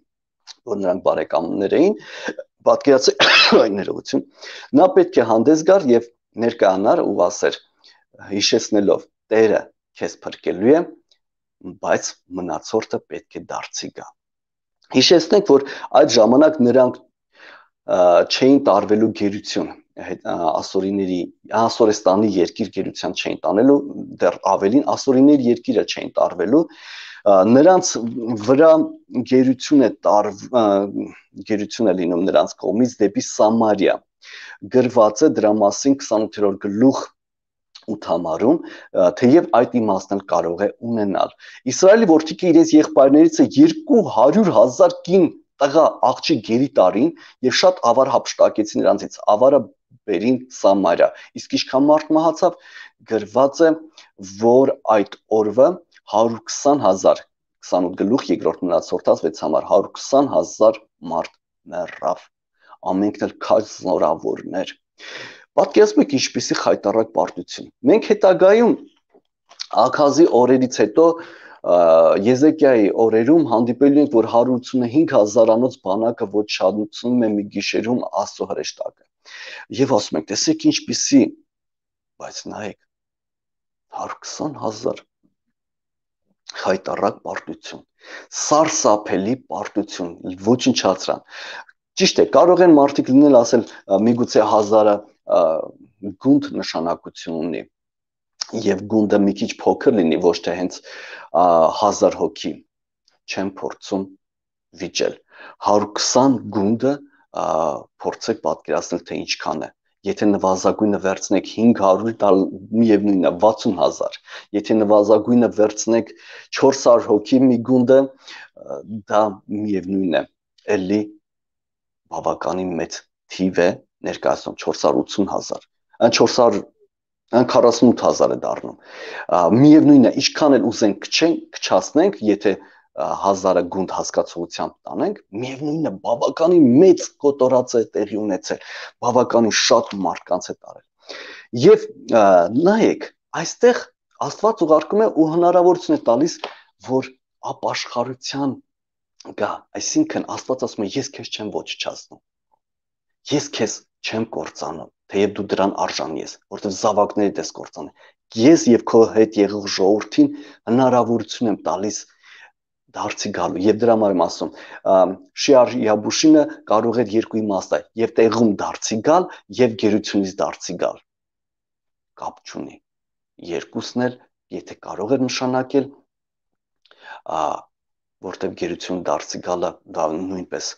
որ նրանք բարեկամներ էին, պատկերացրեք այն ներողություն, նա պետք է հանդես գար եւ ներկայանար ու ասեր, հիշեցնելով Տերը քեզ փրկելու է, բայց մնացորդը պետք է դարձի գա։ Հիշեցնենք, որ այդ ժամանակ նրանք չէին տարվելու գերություն, ասորեստանի երկիր գերության չէին տանելու, դեռ ավելին ասորիների երկիրը չէին տարվելու, նրանց վրա գերություն է լինում նրանց կողմից դեպի Սամարիա, գրված է դրա մասին 28-րդ գլուխ 8 համարում, թեև այդ իմաստն կարող է ունենալ։ Իսրայելի որդիքը իրենց եղբայրներից 200,000 կին տղա աղջիկ գերի տարին եւ շատ ավար հափշտակեցին նրանցից, ավարը բերին Սամարիա, իսկ ինչքան մարդ մահացավ, գրված է, որ այդ օրվա 120,000, 28 գլուխ 2-րդ մնացորդած 6 համար, 120,000 մարդ մեռավ, ամենքն էլ քաջ զորավորներ։ Պատկերացնում եք ինչպիսի խայտառակ պարտություն։ Մենք հետագայում Աքազի օրերից հետո Եզեկիայի օրերում հանդիպելու ենք, որ 185,000-անոց բանակը ոչնչացնում է մի գիշերում Աստծո հրեշտակը։ Եվ ասում ենք, տեսեք ինչպիսի, բայց նայեք 120,000 խայտառակ պարտություն, սարսափելի պարտություն, ոչնչացրան։ Ճիշտ է, կարող են մարդիկ լինել ասել, միգուցե 1000-ը գունդ նշանակություն ունի, եւ գունդը մի քիչ փոքր լինի, ոչ թե հենց 1000 հոգի չեն փորձում վիճել։ 120 գունդը փորձեք պատկերացնել, թե ինչքան է։ Եթե նվազագույնը վերցնեք 500, դա միևնույնն է 60,000։ Եթե նվազագույնը վերցնեք 400 հոգի մի գունդը, դա միևնույնն է, էլի բավականին մեծ թիվ է ներկայացնում 480,000։ Այն 48,000 է դառնում։ Միևնույնն է, ինչքան էլ ուզենք քչացնենք, եթե 1000-ը գունդ հասկացողությամբ տանենք, միևնույնն է, բավականին մեծ կոտորած է տեղի ունեցել, բավականին շատ մարդկանց է տարել։ Եվ նայեք, այստեղ Աստված ուղարկում է ու հնարավորություն է տալիս, որ ապաշխարության գա, այսինքն Աստված ասում է, ես քեզ չեմ ոչնչացնում, ես քեզ չեմ կործանում, թեև դու դրան արժանի ես, որտեղ զավակներիդ ես կործանել, ես եւ քո հետ եղող ժողովրդին հնարավորություն եմ տալիս դարձի գալու, եւ դրա համար եմ ասում, շիար յաբուշինը կարող է երկու իմաստը, եւ տեղում դարձի գալ, եւ գերությունից դարձի գալ, կապ չունի, երկուսն էլ, եթե կարող է նշանակել, որտեղ գերություն դարձի գալը, դա նույնպես,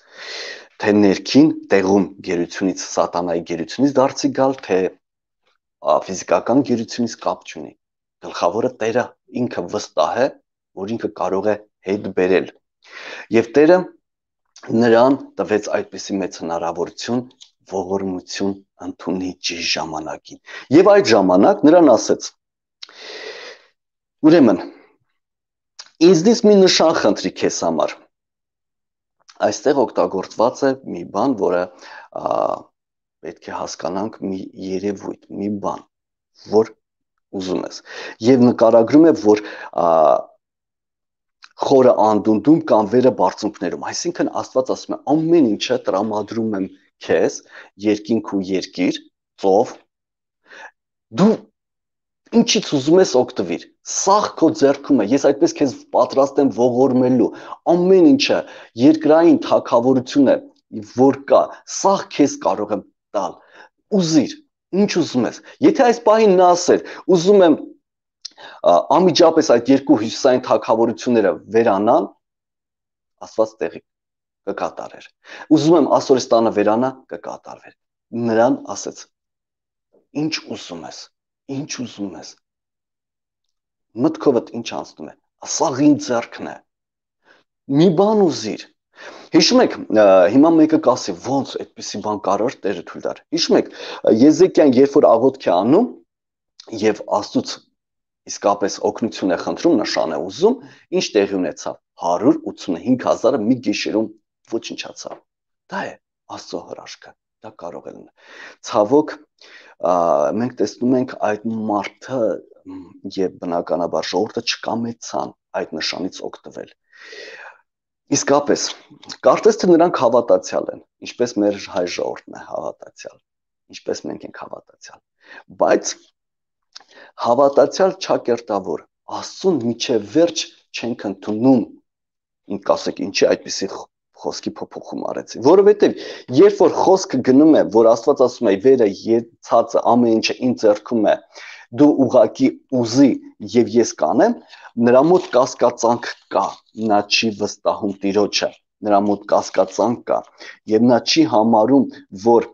թե ներքին տեղում գերությունից, սատանայի գերությունից դարձի գալ, թե ֆիզիկական գերությունից կապ չունի, գլխավորը Տերը ինքը վստահ է, որ ինքը կարող է հետ բերել, եւ Տերը նրան տվեց այդպիսի մեծ հնարավորություն, ողորմություն ընդունի ճիշտ ժամանակին, եւ այդ ժամանակ նրան ասեց, ուրեմն, ինձնից մի նշան խնդրի քեզ համար, այստեղ օգտագործված է մի բան, որը պետք է հասկանանք մի երևույթ, մի բան, որ ուզում ես, եւ նկարագրում է, որ խորը անդունդում կամ վերը բարձունքներում, այսինքն Աստված ասում է, ամեն ինչը տրամադրում եմ քեզ, երկինք ու երկիր, ծով, դու ինչից ուզում ես օգտվիր, սաղ քո ձեռքում է, ես այդպես քեզ պատրաստ եմ ողորմելու, ամեն ինչը, երկրային թագավորությունը, որ կա, սաղ քեզ կարող եմ տալ, ուզիր, ինչ ուզում ես, եթե այս պահին նա ասեր, ուզում եմ անմիջապես այդ երկու հյուսիսային թագավորությունները վերանան, Աստված տեղի կկատարեր, ուզում եմ Ասորստանը վերանա, կկատարվեր, նրան ասեց, ինչ ուզում ես, ինչ ուզում ես, մտքովդ ինչ անցնում է, սաղ իմ ձեռքն է, մի բան ուզիր, հիշում եք, հիմա մեկը կասի, ոնց այդպիսի բան կարող Տերը թույլ տար, հիշում եք, Եզեկիան երբ որ աղոթք է անում եւ Աստծուց իսկապես օգնություն է խնդրում, նշան է ուզում, ինչ տեղի ունեցավ, 185,000-ը մի գիշերում ոչնչացավ, դա է Աստծո հրաշքը, դա կարող է լինել, ցավոք, մենք տեսնում ենք այդ մարդը եւ բնականաբար ժողովուրդը չկամեցան այդ նշանից օգտվել, իսկապես, կարծես թե նրանք հավատացյալ են, ինչպես մեր հայ ժողովուրդն է հավատացյալ, ինչպես մենք ենք հավատացյալ, բայց հավատացյալ չակերտավոր, Աստծուն միջև վերջ չենք ընդունում, ինձ կասեք, ինչի այդպիսի խոսքի փոփոխում արեցի, որովհետև երբ որ խոսքը գնում է, որ Աստված ասում է, վերը, ցածը, ամեն ինչը իմ ձեռքում է, դու ուղակի ուզի եւ ես կանեմ, նրա մոտ կասկածանք կա, նա չի վստահում Տիրոջը, նրա մոտ կասկածանք կա եւ նա չի համարում, որ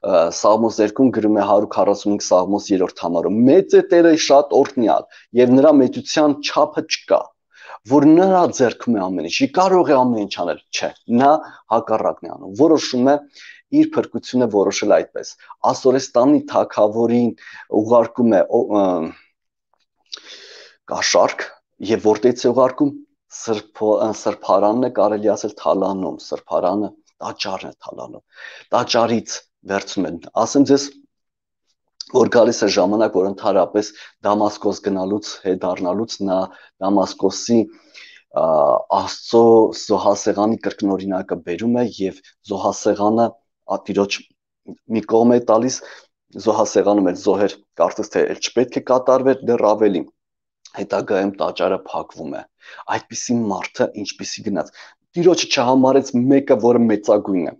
Սաղմոս 2-ում գրում է 145 Սաղմոս 3-րդ համարում, մեծ է Տերը շատ օրհնյալ եւ նրա մեծության չափը չկա, որ նրա ձեռքում է ամեն ինչ, կարող է ամեն ինչ անել, չէ, նա հակառակն է անում, որոշում է իր փրկությունը որոշել այդպես, Ասորստանի թագավորին ուղարկում է կաշառք եւ որտեղից է ուղարկում սրբարանն է կարելի ասել թալանում, սրբարանը տաճարն է թալանում, տաճարից վերցում են, ասեմ ձեզ, որ գալիս է ժամանակ, որ ընդհանրապես Դամասկոս գնալուց դառնալուց նա Դամասկոսի Աստծո զոհասեղանի կրկնօրինակը բերում է եւ զոհասեղանը Տիրոջ մի կողմ է տալիս, զոհասեղանում էլ զոհեր կարծես թե էլ չպետք է կատարվեր, դեռ ավելի հետագայում տաճարը փակվում է, այդպիսի մարդը ինչպիսի գնաց, Տիրոջը չհամարեց մեկը, որը մեծագույն է,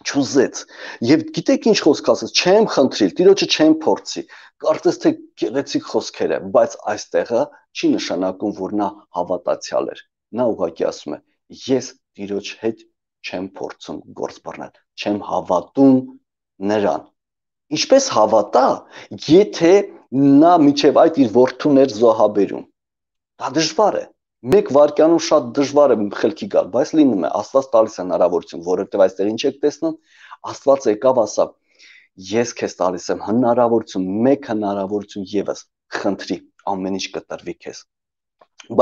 չուզեց, եւ գիտեք ինչ խոսք ասեց, չեմ խնդրիլ, Տիրոջը չեմ փորձի, կարծես թե գեղեցիկ խոսքեր է, բայց այստեղը չի նշանակում, որ նա հավատացյալ էր, նա ուղղակի ասում է, ես Տիրոջ հետ չեմ փորձում գործ բռնել, չեմ հավատում նրան։ Ինչպես հավատա, եթե նա միջև այդ իր որդուն էր զոհաբերում։ Դա դժվար է։ Մեկ վայրկյանում շատ դժվար է խելքի գալ, բայց լինում է, Աստված տալիս է հնարավորություն, որովհետև այստեղ ինչ եք տեսնում, Աստված եկավ ասավ. ես քեզ տալիս եմ հնարավորություն, մեկ հնարավորություն եւս, խնդրի, ամեն ինչ կտրվի քեզ։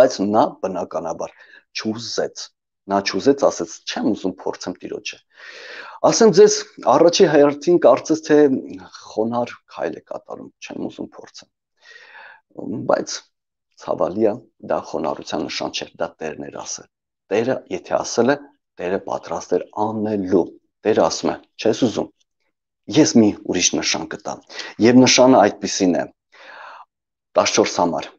Բայց նա բնականաբար չուզեց։ Նա չուզեց, ասեց, չեմ ուզում փորձեմ Տիրոջը։ Ասեմ ձեզ, առաջի հերթին կարծես թե խոնարհ քայլ է կատարում, չեմ ուզում փորձեմ։ Բայց ցավալի է, դա խոնարհության նշան չէ, դա Տերն էր ասել։ Տերը, եթե ասել է, Տերը պատրաստ էր անելու։ Տերը ասում է, չես ուզում։ Ես մի ուրիշ նշան կտամ։ Եվ նշանը այդպիսին է 14 համար։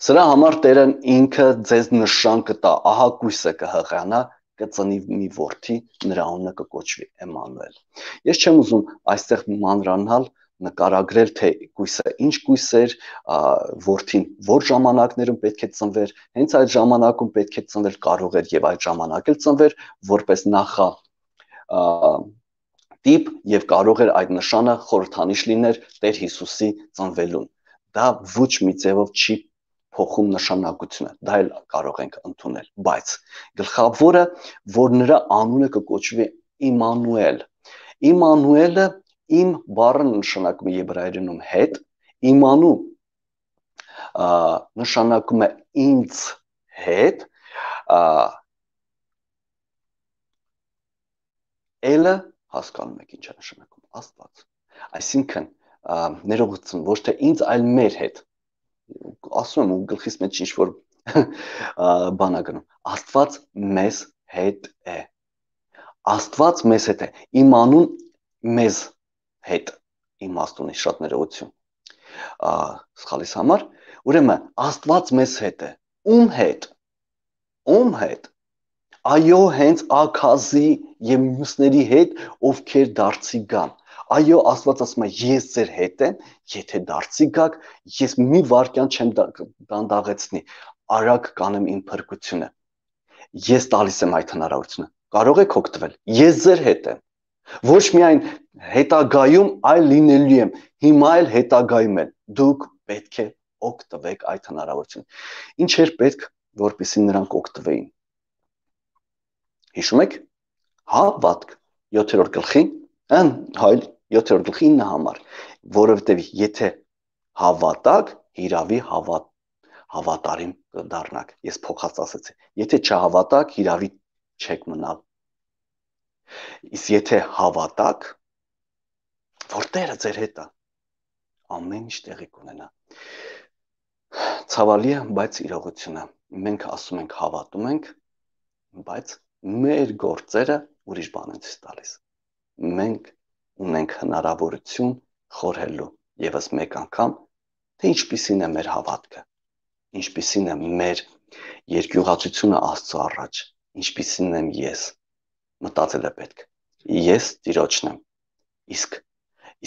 Սրա համար Տերն ինքը ձեզ նշան կտա, ահա կույսը կհղանա, կծնի մի որդի, նրա անունը կկոչվի Էմանուել։ Ես չեմ ուզում այստեղ մանրանալ, նկարագրել, թե կույսը ինչ կույս էր, որդին որ ժամանակներում պետք է ծնվեր, հենց այդ ժամանակում պետք է ծնվել, կարող էր եւ այդ ժամանակ էլ ծնվեր, որպես նախա տիպ եւ կարող էր այդ նշանը խորհրդանիշ լիներ Տեր Հիսուսի ծնվելուն։ Դա ոչ մի ձևով չի փոխում նշանակությունը, դա էլ կարող ենք ընդունել, բայց գլխավորը, որ նրա անունը կկոչվի Իմանուել։ Իմանուելը իմ բառը նշանակում է եբրայերենում հետ, իմանու նշանակում է ինձ հետ, Էլը հասկանում եք ինչ է նշանակում, Աստված։ Այսինքն ներողություն, ոչ թե ինձ, այլ մեր հետ։ Ասում եմ ու գլխիս մեջ ինչ որ բան է գնում։ Աստված մեզ հետ է։ Աստված մեզ հետ է։ Իմանուն մեզ հետ իմաստունի շատ ներողություն։ Սխալիս համար, ուրեմն Աստված մեզ հետ է։ Ում հետ։ Ում հետ։ Այո, հենց Աքազի եւ մյուսների հետ, ովքեր դարձի գան։ Այո, Աստված ասում է, ես ձեր հետ եմ, եթե դարձի գաք, ես մի վարքյան չեմ դանդաղեցնի, արագ կանեմ իմ փրկությունը։ Ես տալիս եմ այդ հնարավորությունը։ Կարող եք օգտվել։ Ես ձեր հետ եմ։ Ոչ միայն հետագայում, այլ լինելու եմ։ Հիմա էլ հետագայում էլ դուք պետք է օգտվեք այդ հնարավորությունից։ Ինչ էր պետք, որպեսզի նրանք օգտվեին։ Հիշում եք, հավատք 7-րդ գլխի, 7-րդ գլխի 9 համար, որովհետև եթե հավատակ, հիրավի հավատարիմ կդառնաք։ Ես փոխած ասեցի, եթե չհավատակ, հիրավի չեք մնալ։ Իսկ եթե հավատակ, որ Տերը ձեր հետ է, ամեն ինչ տեղի կունենա։ Ցավալի է, բայց իրողություն է։ Մենք ասում ենք հավատում ենք, բայց մեր գործերը ուրիշ բան են ցույց տալիս։ Մենք ունենք հնարավորություն խորհելու եւս մեկ անգամ, թե ինչպիսին է մեր հավատքը, ինչպիսին է մեր երկյուղացությունը Աստծո առաջ, ինչպիսին եմ ես։ Մտածել է պետք։ Ես Տիրոջն եմ, իսկ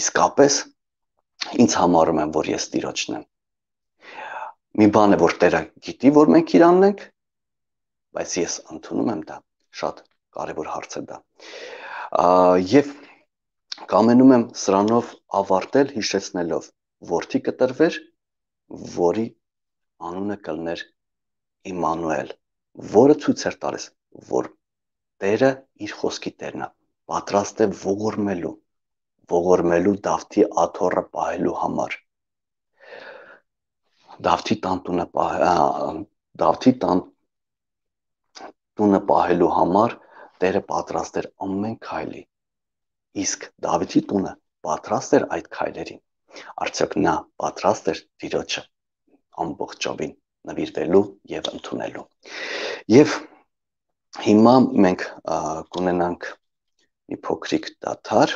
իսկապես ինձ համարում եմ, որ ես Տիրոջն եմ։ Մի բան է, որ Տերը գիտի, որ մենք իրանն ենք, բայց ես ընդունում եմ դա, շատ կարևոր հարց է դա։ Եվ կամենում եմ սրանով ավարտել հիշեցնելով, որդի կտրվեր, որի անունը կլներ Իմանուել, որը ցույց էր տալիս, որ Տերը իր խոսքի Տերն է, պատրաստ է ողորմելու Դավթի աթոռը պահելու համար։ Դավթի տունը պահելու համար Տերը պատրաստ էր ամեն քայլի, իսկ Դավթի տունը պատրաստ էր այդ քայլերին։ Արդյոք նա պատրաստ էր Տիրոջը ամբողջովին նվիրվելու եւ ընդունելու։ Եվ հիմա մենք կունենանք մի փոքրիկ դադար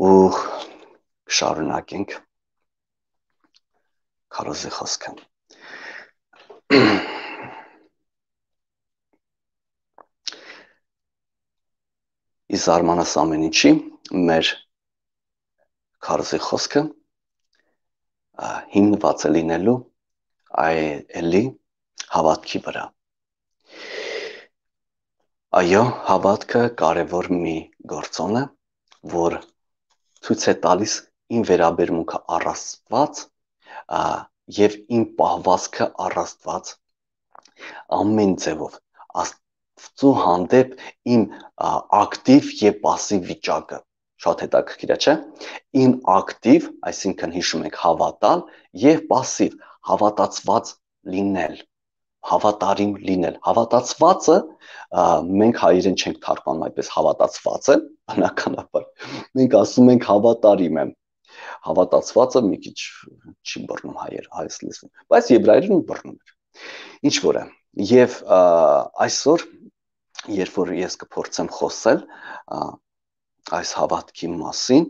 ու շարունակենք քարոզի խոսքը։ Ի զարմանաս ամեն ինչի, մեր քարոզի խոսքը հիմնված է լինելու այելի հավատքի վրա։ Այո, հավատքը կարևոր մի գործոն է, որ ցույց է տալիս իմ վերաբերմունքը առ Աստված եւ իմ պահվածքը առ Աստված ամեն ձևով Աստծո հանդեպ իմ ակտիվ եւ пассив վիճակը շատ հետաքրքիր է, չէ՞։ Իմ ակտիվ, այսինքն հիշում եք հավատալ եւ пассив հավատացված լինել, հավատարիմ լինել։ Հավատացվածը մենք հայերեն չենք թարգմանում այդպես հավատացվածը, բնականաբար։ Մենք ասում ենք հավատարիմ եմ։ Հավատացվածը մի քիչ չի բռնում հայերս լեզուն, բայց եբրայերեն բռնում էր։ Ինչ որ է։ Եվ այսօր, երբ որ ես կփորձեմ խոսել այս հավատքի մասին,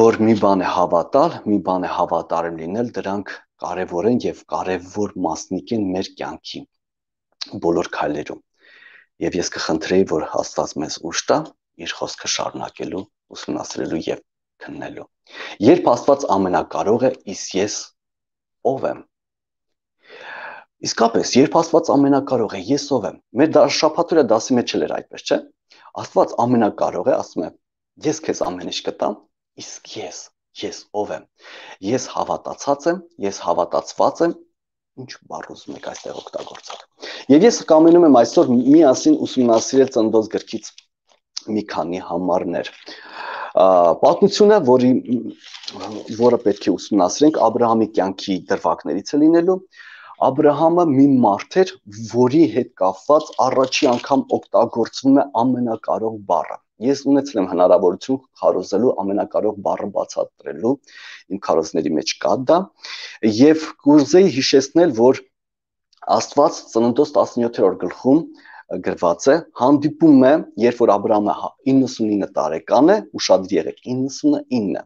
որ մի բան է հավատալ, մի բան է հավատարիմ լինել, դրանք կարևոր են եւ կարևոր մասնիկ են մեր կյանքի բոլոր քայլերում։ Եվ ես կխնդրեի, որ Աստված մեզ ուժ տա իր խոսքը շարունակելու, ուսումնասիրելու եւ քննելու։ Երբ Աստված ամենակարող է, իսկ ես ով եմ։ Իսկապես, երբ Աստված ամենակարող է, ես ով եմ։ Մեր շաբաթօրյա դասի մեջ էլ էր այդպես, չէ՞։ Աստված ամենակարող է, ասում է. ես քեզ ամեն ինչ կտամ, իսկ ես ով եմ։ Ես հավատացած եմ, ես հավատացված եմ, ինչ բառ ուզում եք այստեղ օգտագործել։ Եվ ես կամենում եմ այսօր միասին ուսումնասիրել Ծննդոց գրքից մի քանի համարներ։ Պատմությունը, որը պետք է ուսումնասիրենք, Աբրահամի կյանքի դրվագներից է լինելու։ Աբրահամը մի մարդ էր, որի հետ կապված առաջի անգամ օգտագործվում է ամենակարող բառը։ Ես ունեցել եմ հնարավորություն քարոզելու ամենակարող բառը բացատրելու, իմ քարոզների մեջ կա դա, եւ կուզեի հիշեցնել, որ Աստված Ծննդոց 17-րդ գլխում գրված է, հանդիպում է, երբ որ Աբրահամը 99 տարեկան է, ուշադիր եղեք, 99,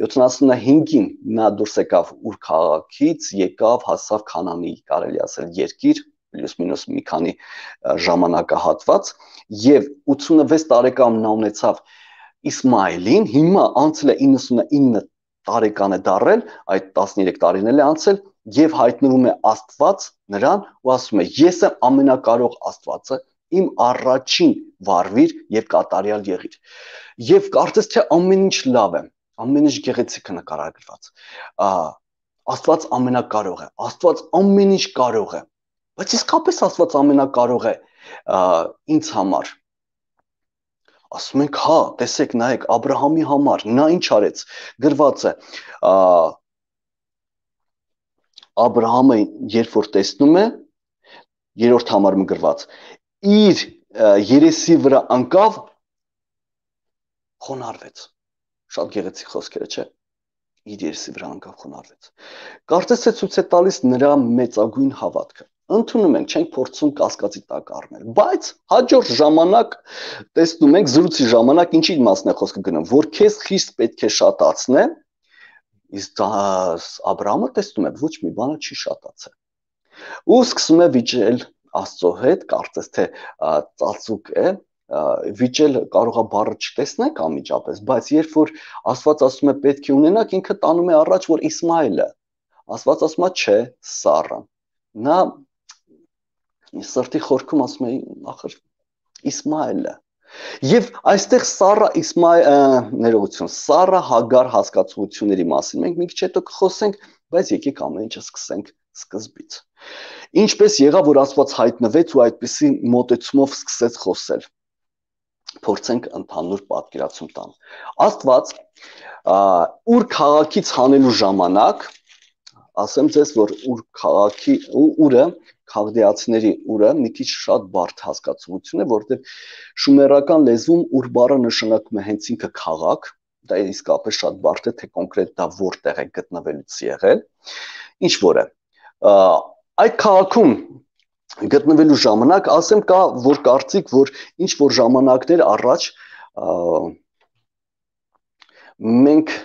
75-ին նա դուրս եկավ Ուր քաղաքից, եկավ, հասավ Քանանի, կարելի ասել երկիր, պլյուս մինուս մի քանի ժամանակահատված, եւ 86 տարեկան նա ունեցավ Իսմայելին, հիմա անցել է 99 տարեկան է դարել, այդ 13 տարիներ է անցել, եւ հայտնվում է Աստված նրան ու ասում է. ես եմ ամենակարող Աստվածը, իմ առաջին վարվիր եւ կատարյալ եղիր։ Եվ կարծես թե ամեն ինչ լավ է, ամեն ինչ գեղեցիկ է նկարագրված։ Աստված ամենակարող է, Աստված ամեն ինչ կարող է։ Բայց իսկապես Աստված ամենակարող է ինձ համար։ Ասում ենք, հա, տեսեք, նայեք, Աբրահամի համար նա ինչ արեց։ Գրված է Աբրահամը երբ որ տեսնում է, երրորդ համարում գրված, իր երեսի վրա անկավ, խոնարհվեց։ Շատ գեղեցիկ խոսքեր է, չէ՞։ Իր երեսի վրա անկավ, խոնարհվեց։ Կարծես թե ցույց է տալիս նրա մեծագույն հավատքը։ Ընդունում ենք, չենք փորձում կասկածի տակ առնել, բայց հաջորդ ժամանակ տեսնում ենք զրույցի ժամանակ ինչի մասն է խոսքը գնում, որ քեզ խիստ պետք է շատացնե, իսկ Աբրահամը տեսնում է, ոչ մի բանը չի շատացել։ Ու սկսում է վիճել Աստծո հետ, կարծես թե ծածուկ է, վիճել կարող է բառը չտեսնենք անմիջապես, բայց երբ որ Աստված ասում է պետք է ունենաք, ինքը տանում է առաջ, որ Իսմայելը, Աստված ասում է չէ, Սառը։ Նա սրտի խորքում ասում է ախր Իսմայելը։ Եվ այստեղ ներողություն, Սառա Հագար հասկացությունների մասին մենք մի քիչ հետո կխոսենք, բայց եկեք ամեն ինչը սկսենք սկզբից։ Ինչպես եղավ, որ Աստված հայտնվեց ու այդպիսի մոտեցումով սկսեց խոսել։ Փորձենք ընդհանուր պատկերացում տալ։ Աստված Ուր քաղաքից հանելու ժամանակ, ասեմ ձեզ, որ Ուր քաղաքի Ուրը, քաղդեացիների Ուրը մի քիչ շատ բարդ հասկացություն է, որտեղ շումերական լեզվում Ուր բառը նշանակում է հենց ինքը քաղաք, դա իսկապես շատ բարդ է, թե կոնկրետ դա որտեղ է գտնվելուց եղել, ինչ որ է։ Այդ քաղաքում գտնվելու ժամանակ, ասեմ կա որ կարծիք, որ ինչ որ ժամանակներ առաջ մենք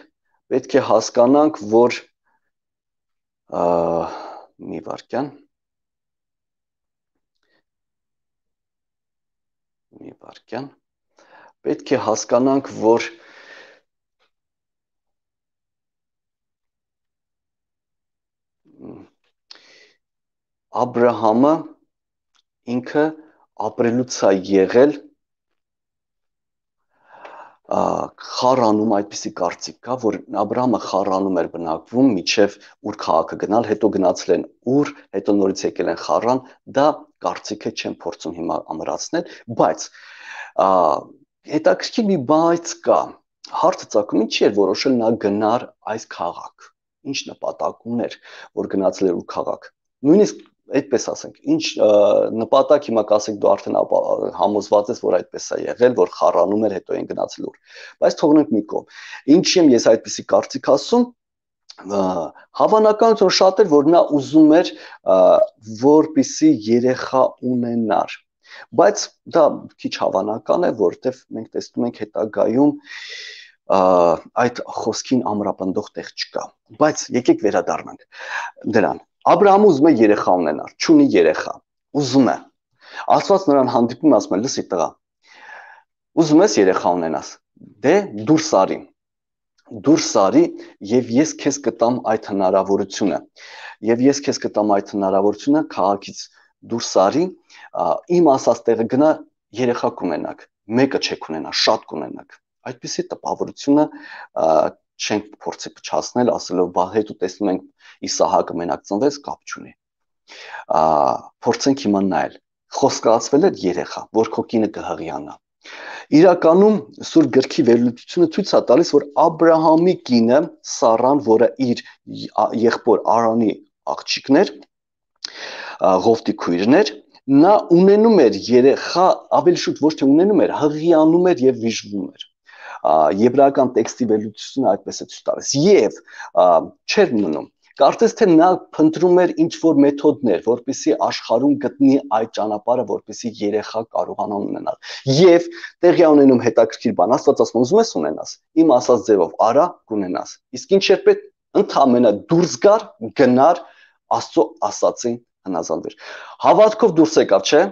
պետք է հասկանանք, որ մի վարքյան պետք է հասկանանք, որ Աբրահամը ինքը ապրելուց է եղել խառանում այդպիսի կարծիք կա, որ Աբրահամը խառանում էր բնակվում միջև ուր քաղաքը գնալ, հետո գնացել են ուր, հետո նորից եկել են խառան, դա կարծիքը չեմ փորձում հիմա ամրացնել, բայց հետաքրքիր մի բայց կա, հարցը ծագում ինչի էր որոշել նա գնար այս քաղաք, ինչ նպատակ ուներ, որ գնացել էր ուր քաղաք, նույնիսկ այդպես ասենք, ինչ նպատակ հիմա կասեք դու արդեն համոզված ես, որ այդպես է եղել, որ խառանում էր, հետո են գնացել ուր։ Բայց թողնենք մի կողմ։ Ինչի եմ ես այդպեսի կարծիք ասում, հավանականություն շատ էր, որ նա ուզում էր, որպիսի երեխա ունենար։ Բայց դա քիչ հավանական է, որովհետև մենք տեսնում ենք հետագայում այդ խոսքին ամրապնդող տեղ չկա։ Բայց եկեք վերադառնանք դրան։ Աբրահամը ուզում է երեխա ունենալ, չունի երեխա, ուզում է։ Աստված նրան հանդիպում ասում է, լսի տղա, ուզում ես երեխա ունենաս, դե դուրս արի, եւ ես քեզ կտամ այդ հնարավորությունը, եւ ես քեզ կտամ այդ հնարավորությունը քաղաքից դուրս արի, իմ ասած տեղը գնա երեխա կունենաք, մեկը չեք ունենա, շատ կունենաք։ Այդպիսի տպավորությունը չենք փորձի փչացնել, ասելով բա հետո տեսնում ենք Իսահակը մենակ ծնվեց, կապ չունի։ Փորձենք հիմա նայել։ Խոսքացվել է երեխա, որ քո կինը կհղիանա։ Իրականում Սուրբ գրքի վերլուծությունը ցույց է տալիս, որ Աբրահամի կինը Սառան, որը իր եղբոր Արանի աղջիկներ, Ղովտի քույրն էր, նա ունենում էր երեխա, ավելի շուտ ոչ թե ունենում էր, հղիանում էր եւ վիժվում էր։ Եբրայական տեքստի վերլուծությունը այդպես է ցույց տալիս եւ չէր մնում, կարծես թե նա փնտրում էր ինչ որ մեթոդներ, որպեսզի աշխարհում գտնի այդ ճանապարհը, որպեսզի երեխա կարողանա ունենալ եւ տեղի ունենում հետաքրքիր բան, Աստված ասում ուզում ես ունենաս, իմ ասած ձևով արա կունենաս, իսկ ինչ էր պետք, ընդհանրապես դուրս գար, գնար Աստծո ասածին հնազանդվեր, հավատքով դուրս եկավ, չէ՞։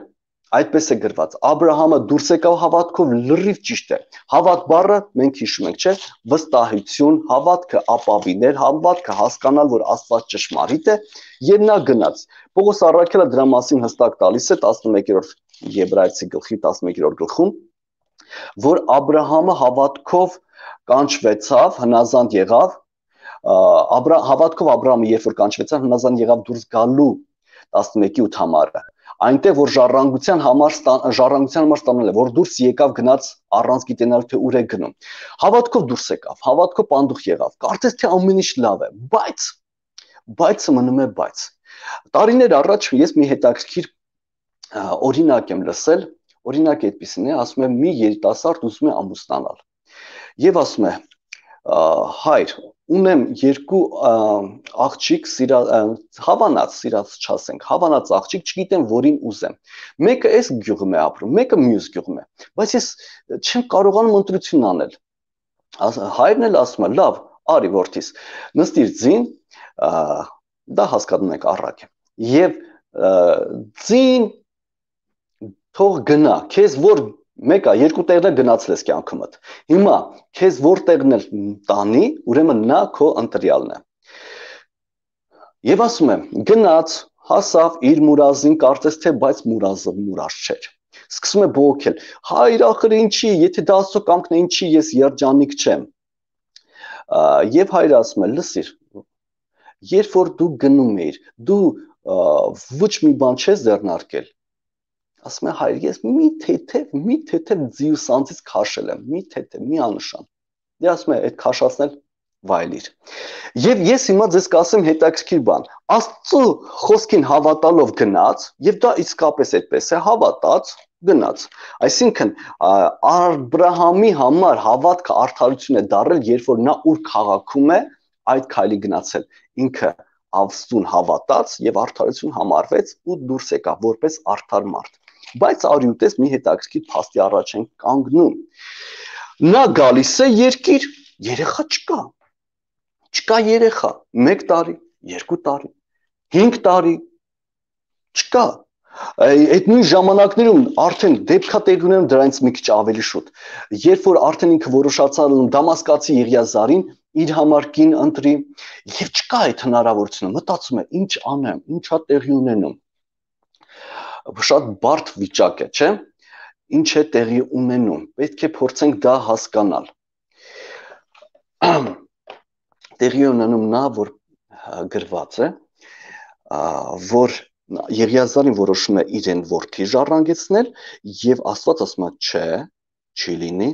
Այդպես է գրված, Աբրահամը դուրս եկավ հավատքով, լրիվ ճիշտ է։ Հավատ բառը մենք հիշում ենք, չէ՞, վստահություն, հավատքը ապավիներ, հավատքը հասկանալ, որ Աստված ճշմարիտ է, եւ նա գնաց։ Պողոս առաքյալը դրա մասին հստակ տալիս է 11-րդ Եբրայեցի գլխի 11-րդ գլխում, որ Աբրահամը հավատքով կանչվեցավ, հնազանդ եղավ, հավատքով Աբրահամը երբ որ կանչվեցավ, հնազանդ եղավ դուրս գալու 11-8 համարը։ Այնտեղ որ ժառանգության համար ստանալ է, որ դուրս եկավ գնաց առանց գիտենալ թե ուր է գնում։ Հավատքով դուրս եկավ, հավատքով պանդուխ եղավ։ Կարծես թե ամեն ինչ լավ է, բայց մնում է բայց։ Տարիներ առաջ ես մի հետաքրքիր օրինակ եմ լսել, օրինակը այդպեսին է, ասում է մի երիտասարդ ուզում է ամուսնանալ։ Եվ ասում է հայր, ունեմ երկու աղջիկ, հավանած, սիրած չասենք, հավանած աղջիկ, չգիտեմ որին ուզեմ։ Մեկը այս գյուղում է ապրում, մեկը մյուս գյուղում է, բայց ես չեմ կարողանում ընտրություն անել։ Հայրն էլ ասում է, լավ, արի որդիս, նստիր ձին, դա հասկանում եք առակ է։ Եվ ձին թող գնա, քեզ որ մեկը երկու տեղն գնացել ես կյանքումդ։ Հիմա քեզ որտեղն էլ տանի, ուրեմն նա քո ընտրյալն է։ Եվ ասում եմ, գնաց, հասավ իր մուրազին, կարծես թե բայց մուրազը մուրազ չէր։ Սկսում է բողոքել. հայր ախր ինչի, եթե դա Աստծո կամքն է, ինչի ես երջանիկ չեմ։ Եվ հայրը ասում է, լսիր, երբ որ դու գնում ես, դու ոչ մի բան չես ձեռնարկել։ Ասում է հայր, ես մի թեթև ձիուսանցից քաշել եմ, մի թեթև, մի աննշան։ Դե ասում է, այդ քաշացնել վայելիր։ Եվ ես հիմա ձեզ կասեմ հետաքրքիր բան։ Աստծո խոսքին հավատալով գնաց, եւ դա իսկապես այդպես է, հավատաց, գնաց։ Այսինքն Աբրահամի համար հավատքը արդարություն է դարել, երբ որ նա ուր քաղաքում է, այդ քայլի գնացել։ Ինքը Աստծուն հավատաց եւ արդարություն համարվեց ու դուրս եկավ որպես արդար մարդ։ Բայց արյուտես մի հետաքրքիր փաստի առաջ են կանգնում։ Նա գալիս է երկիր, երեխա չկա։ Չկա երեխա, 1 տարի, 2 տարի, 5 տարի, չկա։ Այդ նույն ժամանակներում արդեն դեպքա տեղ ունենում դրանից մի քիչ ավելի շուտ։ Երբ որ արդեն ինքը որոշացավ Դամասկացի Եղիազարին իր համար կին ընտրի եւ չկա այդ հնարավորությունը, մտածում է ինչ անեմ, ինչա տեղի ունենում։ շատ բարդ վիճակ է, չէ՞։ Ինչ է տեղի ունենում, պետք է փորձենք դա հասկանալ։ Տեղի ունենում նա, որ գրված է, որ Եղիազարին որոշում է իրեն որդի ժառանգեցնել եւ Աստված ասում է չէ, չի լինի,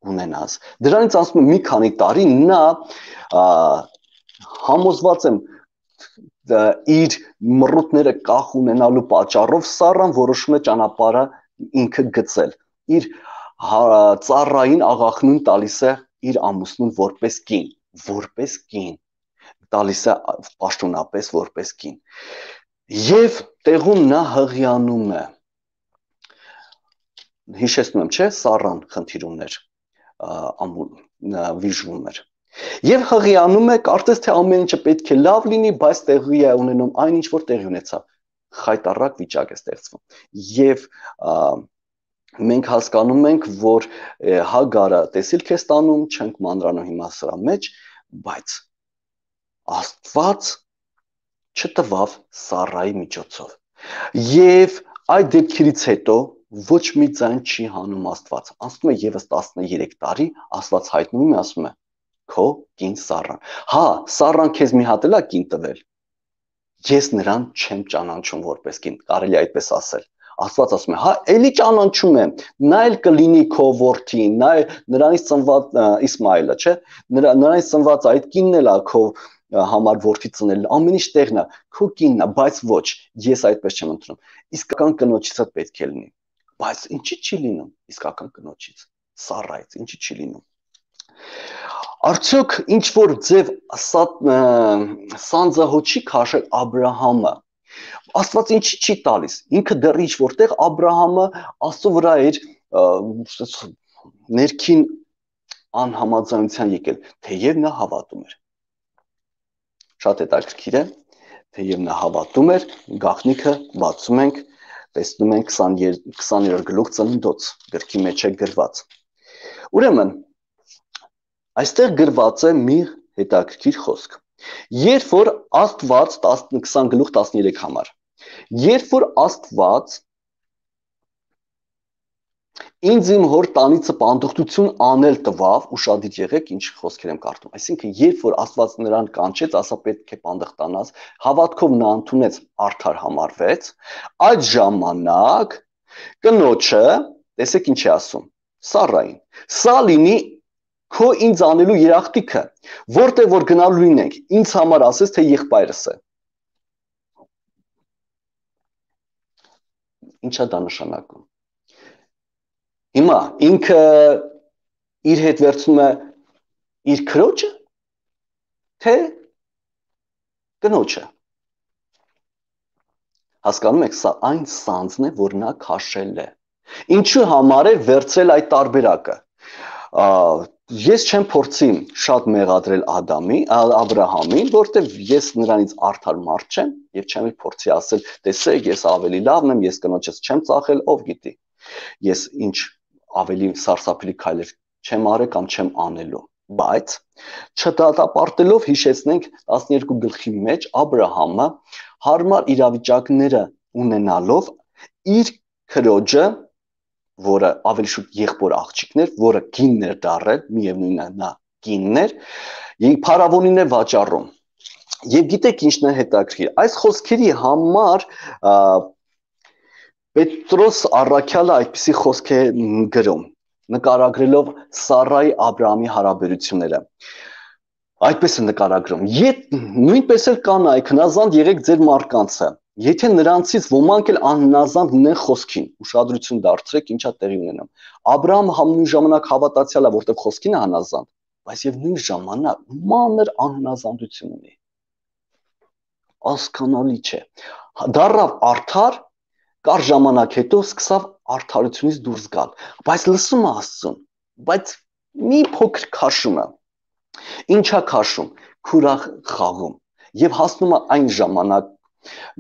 ունենաս։ Դրանից ասում է մի քանի տարի նա համոզված եմ իր մռութները կախ ունենալու պատճառով Սառան որոշում է ճանապարհը ինքը գծել։ Իր ծառային աղախնուն տալիս է իր ամուսնուն որպես կին, տալիս է պաշտոնապես որպես կին։ Եվ տեղում նա հղիանում է։ Հիշեցնում եմ, չէ, Սառան խնդիր ուներ, վիժվում էր։ Եվ հղիանում է, կարծես թե ամեն ինչը պետք է լավ լինի, բայց տեղի է ունենում այն ինչ որ տեղի ունեցավ։ Խայտառակ վիճակ է ստեղծվում։ Եվ մենք հասկանում ենք, որ Հագարը տեսիլք է ստանում, չենք մանրանում հիմա սրա մեջ, բայց Աստված չտվավ Սառայի միջոցով։ Եվ այդ դեպքերից հետո ոչ մի ձայն չի հանում Աստված։ Անցնում է եւս 13 տարի, Աստված հայտնվում է, ասում է. քո կին Սառան։ Հա, Սառան քեզ մի հատ էլ է կին տվել։ Ես նրան չեմ ճանաչում որպես կին, կարելի է այդպես ասել։ Աստված ասում է, հա, էլի ճանաչում եմ, նա էլ կլինի քո որդին, նրանից ծնված Իսմայելը, չէ՞, նրանից ծնված այդ կինն էլ է քո համար որդի ծնել, ամեն ինչ տեղն է, քո կինն է, բայց ոչ, ես այդպես չեմ ընդունում։ Իսկական կնոջից պետք է լինի։ Բայց ինչի՞ չի լինում իսկական կնոջից, Սառայից, ինչի՞ չի լինում։ Արդյոք ինչ որ ձև սանձահոտ չի քաշել Աբրահամը։ Աստված ինչի՞ չի տալիս։ Ինքը դեռ ինչ որտեղ Աբրահամը Աստծո վրա էր ներքին անհամաձայնության եկել, թեև նա հավատում էր։ Շատ հետաքրքիր է, թեև նա հավատում էր, գաղտնիքը բացում ենք, տեսնում ենք 20-րդ գլուխ Ծննդոց գրքի մեջ է գրված։ Ուրեմն այստեղ գրված է մի հետաքրքիր խոսք։ Երբ որ Աստված 20 գլուխ 13 համար, երբ որ Աստված ինձ իմ հոր տանիցը պանդխտություն անել տվավ, ուշադիր եղեք ինչ խոսքեր եմ կարդում, այսինքն երբ որ Աստված նրան կանչեց, ասա պետք է պանդխտանաս, հավատքով նա ընդունեց, արդար համարվեց, այդ ժամանակ կնոջը, տեսեք ինչ է ասում, Սառային, սա լինի քո ինձ անելու երախտիքը, որտեղ որ գնալու լինենք, ինձ համար ասես թե եղբայրս է։ Ինչա դա նշանակում։ Հիմա ինքը իր հետ վերցնում է իր քրոջը, թե կնոջը։ Հասկանում եք, սա այն սանձն է, որ նա քաշել է։ Ինչու համար է վերցրել այդ տարբերակը։ Ես չեմ փորձի շատ մեղադրել Աբրահամին, որտեղ ես նրանից արդար մարդ չեմ եւ չեմ փորձի ասել, տեսեք, ես ավելի լավն եմ, ես կնոջս չեմ ծախել, ով գիտի։ Ես ինչ ավելի սարսափելի քայլեր չեմ արել կամ չեմ անելու, բայց չդատապարտելով հիշեցնենք 12 գլխի մեջ Աբրահամը հարմար իրավիճակները ունենալով իր քրոջը, որը ավելի շուտ եղբոր աղջիկներ, որը կիններ դարել, միևնույնն է նա կիններ, եւ փարավոնին է վաճառում։ Եվ գիտեք ինչն է հետաքրքիր, այս խոսքերի համար Պետրոս առաքյալը այդպիսի խոսք է գրում, նկարագրելով Սառայի Աբրահամի հարաբերությունները։ Այդպես է նկարագրում. նույնպես էլ կանայք հնազանդ եղեք ձեր մարկանցը, եթե նրանցից ոմանք էլ անհնազանդ լինեն խոսքին, ուշադրություն դարձրեք ինչա տեղի ունենում։ Աբրահամը նույն ժամանակ հավատացյալ է, որտեղ խոսքին է հնազանդ, բայց եւ նույն ժամանակ մանր անհնազանդություն ունի։ Հասկանալի չէ։ Դառավ արդար, կար ժամանակ հետո սկսավ արդարությունից դուրս գալ, բայց լսում է Աստծուն, բայց մի փոքր քաշում է։ Ինչա քաշում, քուրախ խաղում եւ հասնում է այն ժամանակ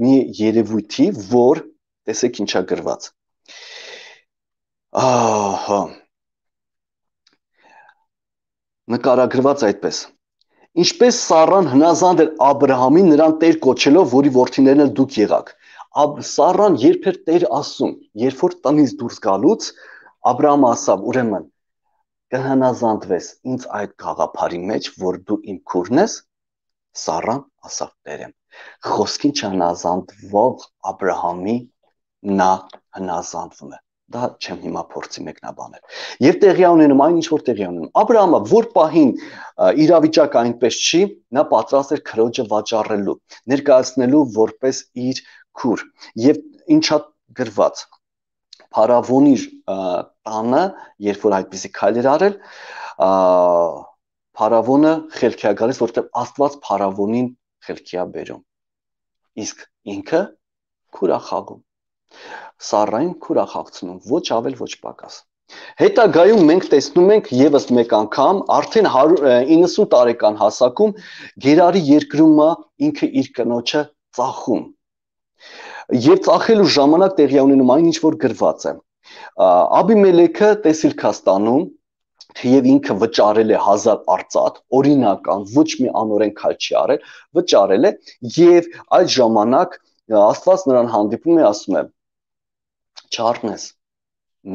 մի երևույթի, որ տեսեք ինչա գրված։ Ահա նկարագրված այդպես. Ինչպես Սառան հնազանդ էր Աբրահամին նրան տեր կոչելով, որի որդիներն էլ դուք եղաք, Սառան երբ էր Տեր ասում, երբ որ տնից դուրս գալուց Աբրահամը ասավ, ուրեմն կհնազանդվես ինձ այդ գաղափարի մեջ, որ դու իմ քուրն ես, Սառան ասավ Տերեմ, խոսքին չհնազանդվող Աբրահամի նա հնազանդվում է։ Դա չեմ հիմա փորձի մեկնաբանել։ Եվ տեղի ունենում այն ինչ որ տեղի ունենում։ Աբրահամը որ պահին իրավիճակը այնպես չի, նա պատրաստ էր քրոջը վաճառելու, ներկայացնելու որպես իր քուր։ Եվ ինչա գրված Փարավոնի տանը, երբ որ այդպիսի քայլ էր արել, Փարավոնը խելքի է գալիս, որտեղ Աստված Փարավոնին խելքի է բերում։ Իսկ ինքը քուր է խաղում։ Սառային քուր է խաղցնում, ոչ ավել, ոչ պակաս։ Հետագայում մենք տեսնում ենք եւս մեկ անգամ արդեն 90 տարեկան հասակում Գերարի երկրումը ինքը իր կնոջը ծախում։ Եվ ծախելու ժամանակ տեղի ունենում այն ինչ որ գրված է։ Աբիմելեքը տեսիլք է ստանում, թեև ինքը վճարել է 1000 արծաթ, օրինական, ոչ մի անօրեն քայլ չի արել, վճարել է եւ այդ ժամանակ Աստված նրան հանդիպում է, ասում է. Չառնես,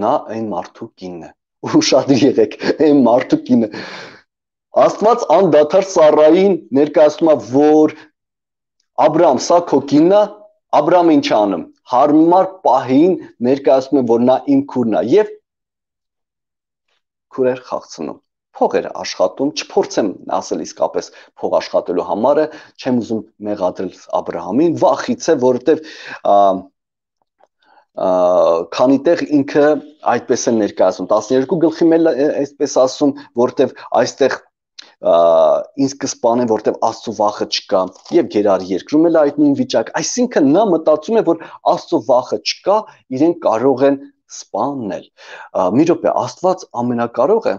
նա այն մարդու կինն է։ Ուշադիր եղեք, այն մարդու կինը։ Աստված անդադար Սառային ներկայացնում է, որ Աբրահամ, սա քո կինն է, Աբրահամը ինչ անում։ Հարմար պահին ներկայացնում է, որ նա իմ քուրն է եւ քուրեր խաղցնում։ Փող էր աշխատում, չփորձեմ ասել իսկապես փող աշխատելու համարը, չեմ ուզում մեղադրել Աբրահամին, վախից է, որովհետեւ քանի տեղ ինքը այդպես է ներկայացում 12 գլխի մել այսպես ասում, որտեվ այստեղ ինձ կսպանեն, որտեվ Աստծո վախը չկա, եւ Գերարի երկրում էլ այդ նույն վիճակ, այսինքն նա մտածում է, որ Աստծո վախը չկա, իրեն կարող են սպանել։ Մի րոպե, Աստված ամենակարող է,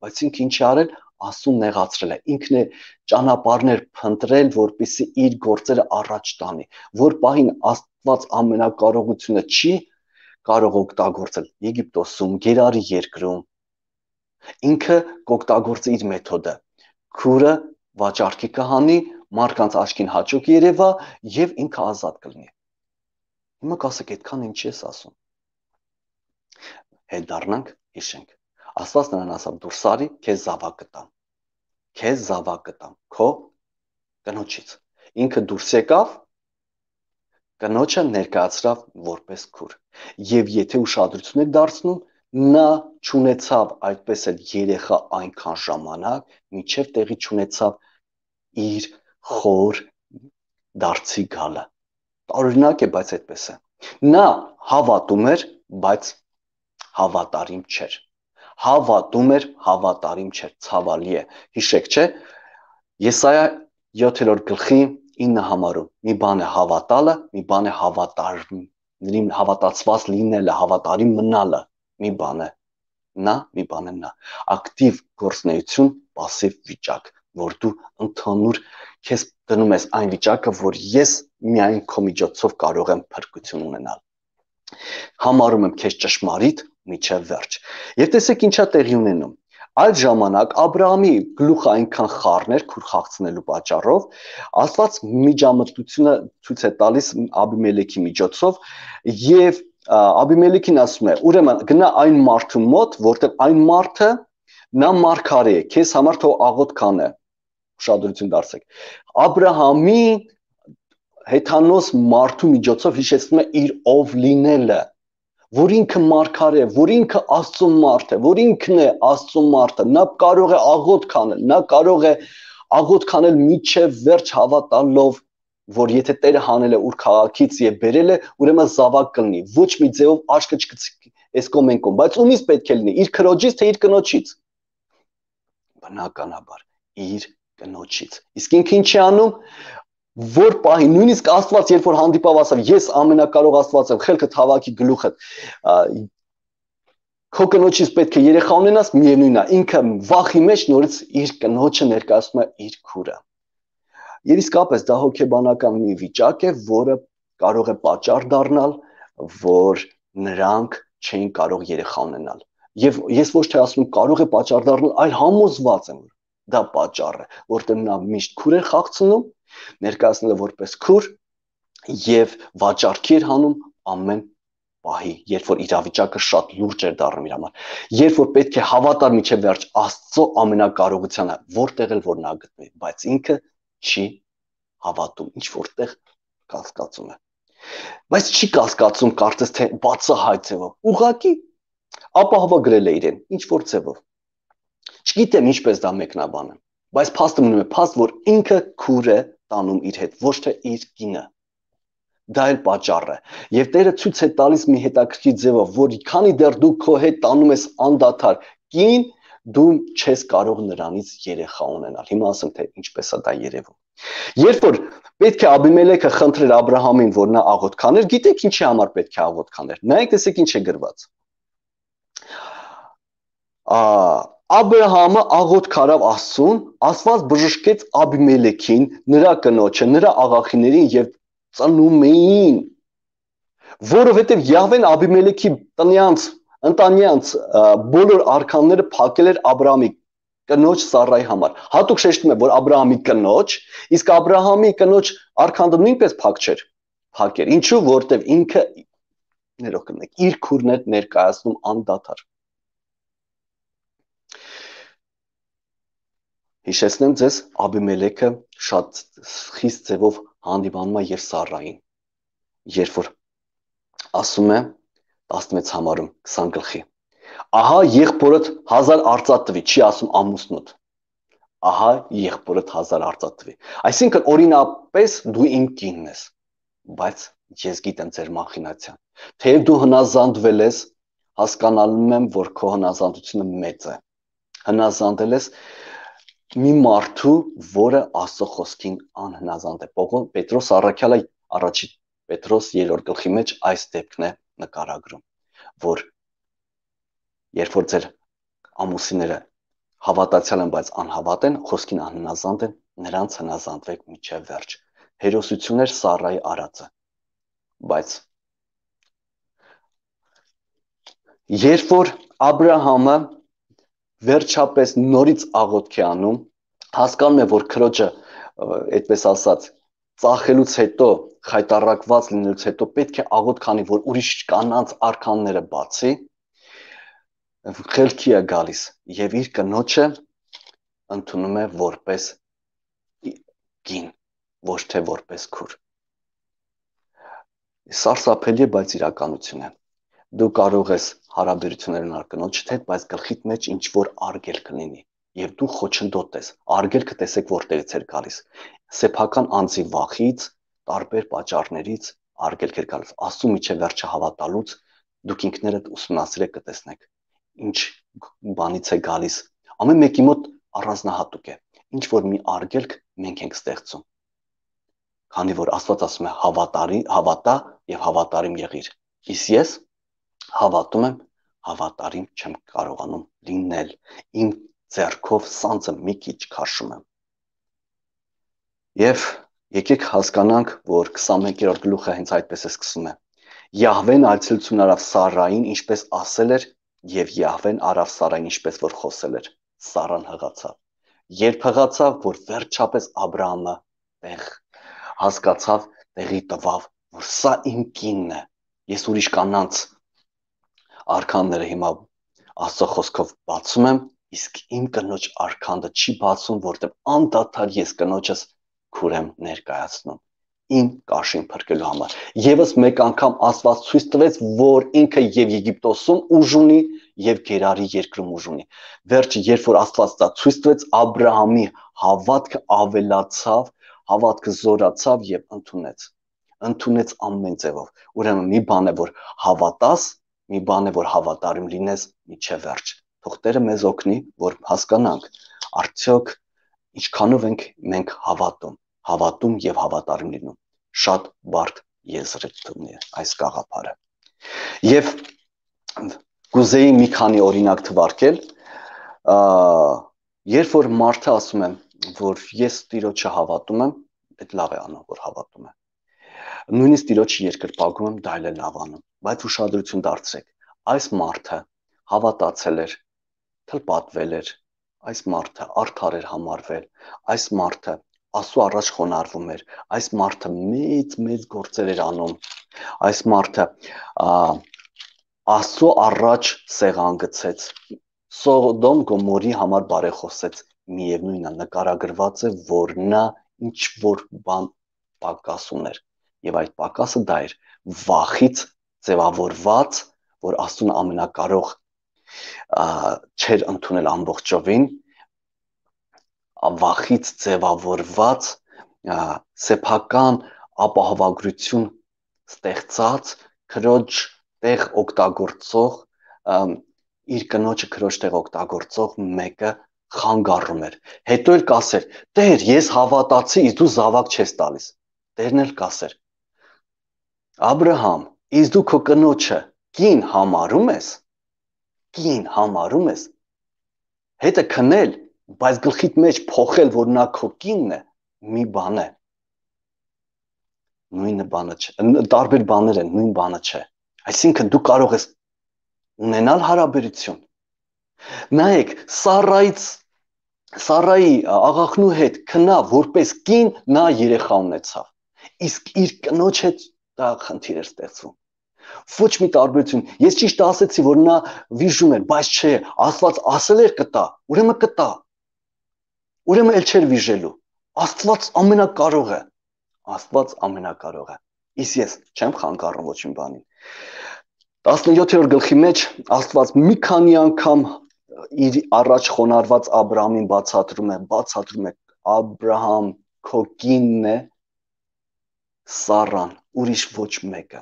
բայց ինքը ինչ է արել, Աստուն նեղացրել է, ինքն է ճանապարհներ փնտրել, որպեսզի իր գործերը առաջ տանի, որ պահին Աստված ամենակարողությունը չի կարող օգտագործել Եգիպտոսում, Գերարի երկրում, ինքը կօգտագործի իր մեթոդը, քուրը վաճառքի կհանի, մարդկանց աչքին հաճոք երևա եւ ինքը ազատ կլինի։ Հիմա կասեք, այդքան ինչ ես ասում։ Հետ դառնանք, հիշենք։ Աստված նրան ասավ, դուրս արի, քեզ զավակ կտամ։ Քեզ զավակ կտամ, քո կնոջից։ Ինքը դուրս եկավ, կնոջը ներկայացրավ որպես քուր։ Եվ եթե ուշադրություն եք դարձնում, նա չունեցավ այդպես էլ երեխա այնքան ժամանակ, մինչև տեղի չունեցավ իր խոր դարձի գալը։ Տարօրինակ է, բայց այդպես է։ Նա հավատում էր, բայց հավատարիմ չէր։ Հավատում էր, հավատարիմ չէր, ցավալի է։ Հիշեք, չէ՞։ Եսայա 7-րդ գլխի 9 համարում մի բան է հավատալը, մի բան է հավատացված լինելը, հավատարիմ մնալը, մի բան է նա, մի բան է նա։ Ակտիվ գործունեություն, пассив վիճակ, որ դու ընդհանուր քեզ դնում ես այն վիճակը, որ ես միայն քո միջոցով կարող եմ փրկություն ունենալ։ Համարում եմ քեզ ճշմարիտ միջև վերջ։ Եվ տեսեք ինչա տեղի ունենում։ Այդ ժամանակ Աբրահամի գլուխը այնքան խառն էր քուր խաղցնելու պատճառով, Աստված միջամտությունը ցույց է տալիս Աբիմելեքի միջոցով եւ Աբիմելեքին ասում է. ուրեմն գնա այն մարդու մոտ, որտեղ այն մարդը նա մարգարե է, քեզ համար թող աղոտ քանը։ Ուշադրություն դարձեք։ Աբրահամի հեթանոս մարդու միջոցով հիշեցնում է իր ով լինելը, որ ինքը մարգարե է, որ ինքը Աստծո մարդ է, որ ինքն է Աստծո մարդը, նա կարող է աղոտ քանել, նա կարող է աղոտ քանել միջև վերջ հավատալով, որ եթե Տերը հանել է ուր քաղաքից եւ բերել է, ուրեմն զավակ կլինի, ոչ մի ձեով աչքը չկցի էսկոմենկոմ, բայց ումից պետք է լինի, իր քրոջից թե իր կնոջից։ Բնականաբար իր կնոջից։ Իսկ ինքը ինչ է անում, որ պահի նույնիսկ Աստված երբ որ հանդիպավ ասավ, ես ամենակարող Աստված եմ, խելքդ հավաքի գլուխդ, քո կնոջից պետք է երեխա ունենաս, միևնույնն է, ինքը վախի մեջ նորից իր կնոջը ներկայացնում է իր քուրը։ Եվ իսկապես դա հոգեբանական մի վիճակ է, որը կարող է պատճառ դառնալ, որ նրանք չէին կարող երեխա ունենալ։ Եվ ես ոչ թե ասում եմ կարող է պատճառ դառնալ, այլ համոզված եմ, որ դա պատճառ է, որտեղ նա միշտ քուր է խաղցնում, ներկայացնելը որպես քուր, եւ վաճառքի էր հանում ամեն պահի, երբ որ իրավիճակը շատ լուրջ էր դառնում իր համար, երբ որ պետք է հավատար միջև վերջ Աստծո ամենակարողությանը, որտեղ էլ որ նա գտնվի, բայց ինքը չի հավատում, ինչ որտեղ կասկածում է, բայց չի կասկածում կարծես թե բացահայտ ձևով, ուղղակի ապահովագրել է իրեն, ինչ որ ձևով, չգիտեմ ինչպես դա մեկնաբանը, բայց փաստը մնում է փաստ, որ ինքը քուր է տանում իր հետ, ոչ թե իր կինը, դա էլ պատճառ է, եւ Տերը ցույց է տալիս մի հետաքրքիր ձևով, որ քանի դեռ դու քո հետ տանում ես անդադար կին, դու չես կարող նրանից երեխա ունենալ, հիմա ասեմ թե ինչպես է դա երևում, երբ որ պետք է Աբիմելեքը խնդրեր Աբրահամին, որ նա աղոթք աներ, գիտեք ինչի համար պետք է աղոթք աներ, նայեք տեսեք ինչ է գրված, Աբրահամը աղոթք արավ Աստծուն, Աստված բժշկեց Աբիմելեքին, նրա կնոջը, նրա աղախիներին եւ ծնում էին, որովհետեւ Յահվեն Աբիմելեքի ընտանյանց բոլոր արքանները փակել էր Աբրահամի կնոջ Սառայի համար։ Հատուկ շեշտում է, որ Աբրահամի կնոջ, իսկ Աբրահամի կնոջ արքանդը նույնպես փակ չէր։ Փակ էր։ Ինչու՞, որովհետեւ ինքը ներող կնեք, իր քուրն էր ներկայացնում անդադար։ Հիշեցնեմ ձեզ, Աբիմելեքը շատ խիստ ձևով հանդիպանում է եւ Սառային, երբ որ ասում է 16 համարում 20 գլխի, ահա եղբորդ 1000 արծաթ տվի, չի ասում ամուսնուդ, ահա եղբորդ 1000 արծաթ տվի, այսինքն օրինապես դու իմ կինն ես, բայց ես գիտեմ ձեր մախինացիան, թեև դու հնազանդվել ես, հասկանալու եմ, որ քո հնազանդությունը մեծ է, հնազանդել ես մի մարդու, որը Աստծո խոսքին անհնազանդ է, Պետրոս առաքյալը առաջին Պետրոս 3-րդ գլխի մեջ այս դեպքն է նկարագրում, որ երբ որ ձեր ամուսինները հավատացյալ են, բայց անհավատ են, խոսքին անհնազանդ են, նրանց հնազանդվեք մինչև վերջ։ Հերոսություն էր Սառայի արածը, բայց երբ որ Աբրահամը վերջապես նորից աղոթք է անում, հասկանում է, որ քրոջը, այդպես ասած, ծախելուց հետո, խայտառակված լինելուց հետո պետք է աղոթք անի, որ ուրիշ կանանց արքանները բացի, խելքի է գալիս եւ իր կնոջը ընդունում է որպես կին, ոչ թե որպես քուր։ Սարսափելի է, բայց իրականություն է։ Դու կարող ես հարաբերություններ ունենալ կնոջդ հետ, բայց գլխիդ մեջ ինչ որ արգելք լինի եւ դու խոչընդոտ ես, արգելքը տեսեք որտեղից էր գալիս, սեփական անձի վախից, տարբեր պատճառներից արգելք էր գալիս, Աստծո միջև վերջը հավատալուց դուք ինքներդ ուսումնասիրեք կտեսնեք, ինչ բանից է գալիս, ամեն մեկի մոտ առանձնահատուկ է, ինչ որ մի արգելք մենք ենք ստեղծում, քանի որ Աստված ասում է հավատա եւ հավատարիմ եղիր, իսկ ես հավատում եմ, հավատարիմ չեմ կարողանում լինել, իմ ձեռքով սանձը մի քիչ քաշում եմ։ Եվ եկեք հասկանանք, որ 21-րդ գլուխը հենց այդպես է սկսում է։ Յահվեն այցելություն արավ Սառային, ինչպես ասել էր, եւ Յահվեն արավ Սառային, ինչպես որ խոսել էր։ Սառան հղացավ։ Երբ հղացավ, որ վերջապես Աբրահամը հասկացավ, տեղի տվավ, որ սա իմ կինն է, ես ուրիշ կանանց արքանները հիմա Աստծո խոսքով բացում եմ, իսկ իմ կնոջ արքանդը չի բացում, որտեղ անդադար ես կնոջս քուր եմ ներկայացնում, իմ կաշին փրկելու համար։ Եվս մեկ անգամ Աստված ցույց տվեց, որ ինքը եւ Եգիպտոսում ուժ ունի եւ Գերարի երկրում ուժ ունի։ Վերջը, երբ որ Աստված դա ցույց տվեց, Աբրահամի հավատքը ավելացավ, հավատքը զորացավ եւ ընդունեց ամեն ձևով։ Ուրեմն մի բան է, որ հավատաս, մի բան է, որ հավատարիմ լինես մինչև վերջ։ Թող Տերը մեզ օգնի, որ հասկանանք, արդյոք ինչքանով ենք մենք հավատում եւ հավատարիմ լինում։ Շատ բարդ եզրույթ է այս գաղափարը։ Եվ կուզեի մի քանի օրինակ թվարկել, երբ որ մարդը ասում է, որ ես Տիրոջը հավատում եմ, այդ լավ է անում, որ հավատում է։ Նույնիսկ Տիրոջը երկրպագում եմ, դա էլ է լավ անում, բայց ուշադրություն դարձրեք, այս մարդը հավատացել էր, թլպատվել էր, այս մարդը արդար էր համարվել, այս մարդը Աստծո առաջ խոնարհվում էր։ Այս մարդը մեծ գործեր էր անում։ Այս մարդը Աստծո առաջ սեղան գցեց։ Սոդոմ Գոմորի համար բարեխոսեց։ Միևնույնն է, նկարագրված է, որ նա ինչ որ բան պակաս ուներ։ Եվ այդ պակասը դա էր վախից ձևավորված, որ Աստծուն ամենակարող չէր ընդունել ամբողջովին, վախից ձևավորված սեփական ապահովագրություն ստեղծած քրոջ տեղ օգտագործող իր կնոջը քրոջ տեղ օգտագործող մեկը խանգարում էր։ Հետո էլ կասեր. «Տեր, ես հավատացի, իսկ դու զավակ չես տալիս»։ Տերն էլ կասեր. «Աբրահամ, իսկ դու քո կնոջը կին համարում ես»։ Կին համարում ես։ Հետը քնել, բայց գլխիդ մեջ փոխել, որ նա քո կինն է, մի բան է։ Նույնը բանը չէ, տարբեր բաներ են, նույն բանը չէ։ Այսինքն դու կարող ես ունենալ հարաբերություն։ Նայեք, Սարայի աղախնու հետ քնա որպես կին, նա երեխա ունեցավ։ Իսկ իր կնոջ հետ դա խնդիր էր ստեղծվում։ Ոչ մի տարբերություն։ Ես ճիշտ ասեցի, որ նա վիժում էր, բայց չէ, Աստված ասել էր կտա, ուրեմն կտա։ Ուրեմն էլ չէր վիժելու։ Աստված ամենակարող է։ Աստված ամենակարող է։ Իսկ ես չեմ խանգարում ոչ մի բանին։ 17-րդ գլխի մեջ Աստված մի քանի անգամ իր առաջ խոնարհված Աբրահամին բացատրում է Աբրահամ քո կինն է, Սառան, ուրիշ ոչ մեկը։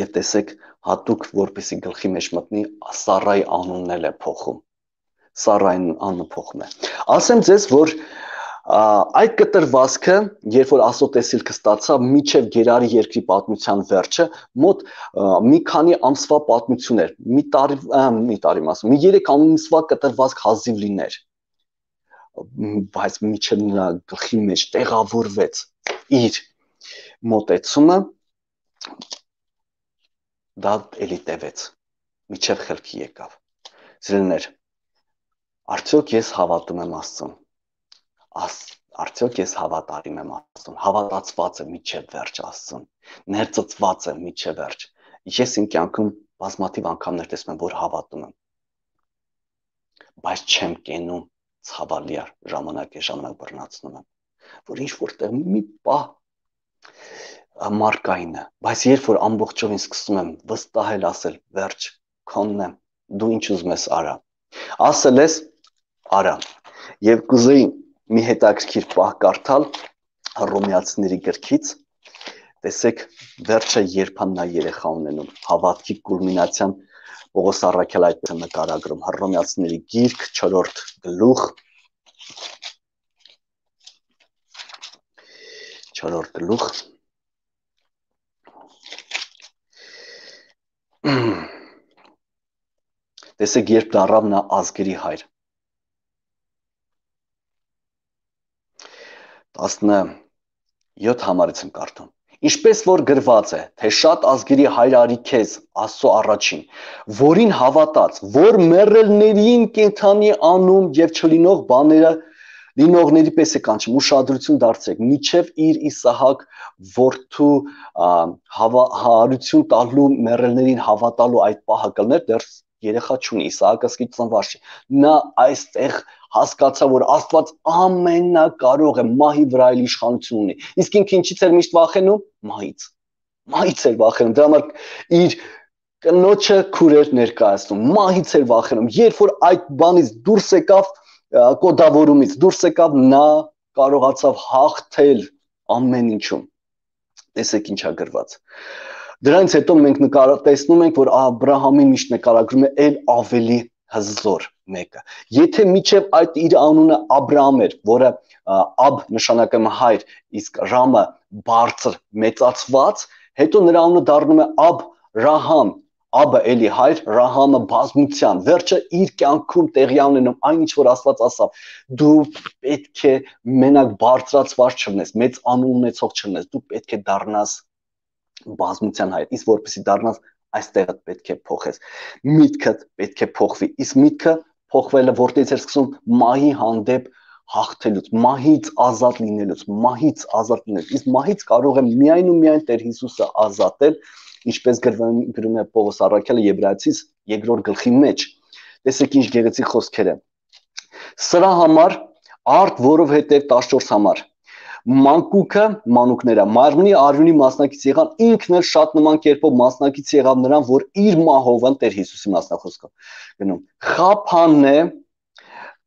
Եվ տեսեք, հատուկ որպեսի գլխի մեջ մտնի, Սառայի անունն էլ է փոխում։ Սառային անունը փոխում է։ Ասեմ ձեզ, որ այդ կտրվածքը, երբ որ Աստծո տեսիլքը ստացավ միջև Գերարի երկրի պատմության վերջը, մոտ մի քանի ամսվա պատմություն էր։ Մի 3 ամսվա կտրվածք հազիվ լիներ։ Բայց միջև նրա գլխի մեջ տեղավորվեց իր մոտեցումը, դա էլի տևեց, միջև խելքի եկավ։ Սիրելիներ, արդյոք ես հավատում եմ Աստծուն։ Արդյոք ես հավատարիմ եմ Աստծուն, հավատացված եմ միջև վերջ Աստծուն, ներծծված եմ միջև վերջ։ Ես իմ կյանքում բազմաթիվ անգամներ տեսնում եմ, որ հավատում եմ, բայց չեմ կենում, ցավալի ժամանակ բռնացնում եմ, որ ինչ որտեղ մի պահ մարկային է, բայց երբ որ ամբողջովին սկսում եմ վստահել, ասել վերջ, քոնն եմ, դու ինչ ուզում ես արա, ասել ես արա։ Եվ կուզեի մի հետաքրքիր պահ կարդալ Հռոմեացիների գրքից, տեսեք վերջը երբան նա երեխա ունենում, հավատքի կուլմինացիան Պողոս առաքյալ այդպես է նկարագրում, Հռոմեացիների գիրք 4-րդ գլուխ, 4-րդ գլուխ, տեսեք երբ դառավ նա ազգերի հայր, 17 համարից եմ կարդում։ Ինչպես որ գրված է, թե շատ ազգերի հայր արի քեզ, Աստծո առաջին, որին հավատաց, որ մեռելներին կենդանի անում եւ չլինող բաները լինողների պես է կանչում, ուշադրություն դարձրեք, միջև իր Իսահակ որդու հարություն տալու մեռելներին հավատալու այդ պահը կլներ, դեռ երեխա չունի, Իսահակը սկիզբ ծնված չի։ Նա այստեղ հասկացա, որ Աստված ամենակարող է, մահի վրա էլ իշխանություն ունի։ Իսկ ինքը ինչից էր միշտ վախենում? Մահից էր վախենում։ Դրա համար իր կնոջը քուրեր ներկայացնում, մահից էր վախենում։ Երբ որ այդ բանից դուրս եկավ, կոդավորումից դուրս եկավ, նա կարողացավ հաղթել ամեն ինչում։ Տեսեք ինչա գրված։ Դրանից հետո մենք տեսնում ենք, որ Աբրահամին միշտ նկարագրում է էլ ավելի հզոր մեկը։ Եթե միջև այդ իր անունը Աբրահամ էր, որը Աբ նշանակում է հայր, իսկ Ռամը բարձր, մեծացված, հետո նրա անունը դառնում է Աբրահամ, Աբը էլի հայր, Ռահամը բազմության, վերջը իր կյանքում տեղի ունենում այն ինչ որ Աստված ասավ, դու պետք է մենակ բարձրացված չլնես, մեծ անուն ունեցող չլնես, դու պետք է դառնաս բազմության հայր, իսկ որպեսզի դառնաս այստեղը պետք է փոխես, միտքդ պետք է փոխվի, իսկ միտքը փոխվելը որտեղից էր սկսում, մահի հանդեպ հաղթելուց, մահից ազատ լինելուց, մահից ազատ լինելուց։ Իսկ մահից կարող է միայն ու միայն Տեր Հիսուսը ազատել, ինչպես գրում է Պողոս առաքյալը Եբրայեցիս 2-րդ գլխի մեջ։ Տեսեք ինչ գեղեցիկ խոսքեր են։ Սրա համար արդ, որովհետև 14 համար մանկուկը, մանուկները մարմնի արյունի մասնակից եղան, ինքն էլ շատ նման կերպով մասնակից եղավ նրան, որ իր մահով են Տեր Հիսուսի մասնախոսքով գնում։ Խափան է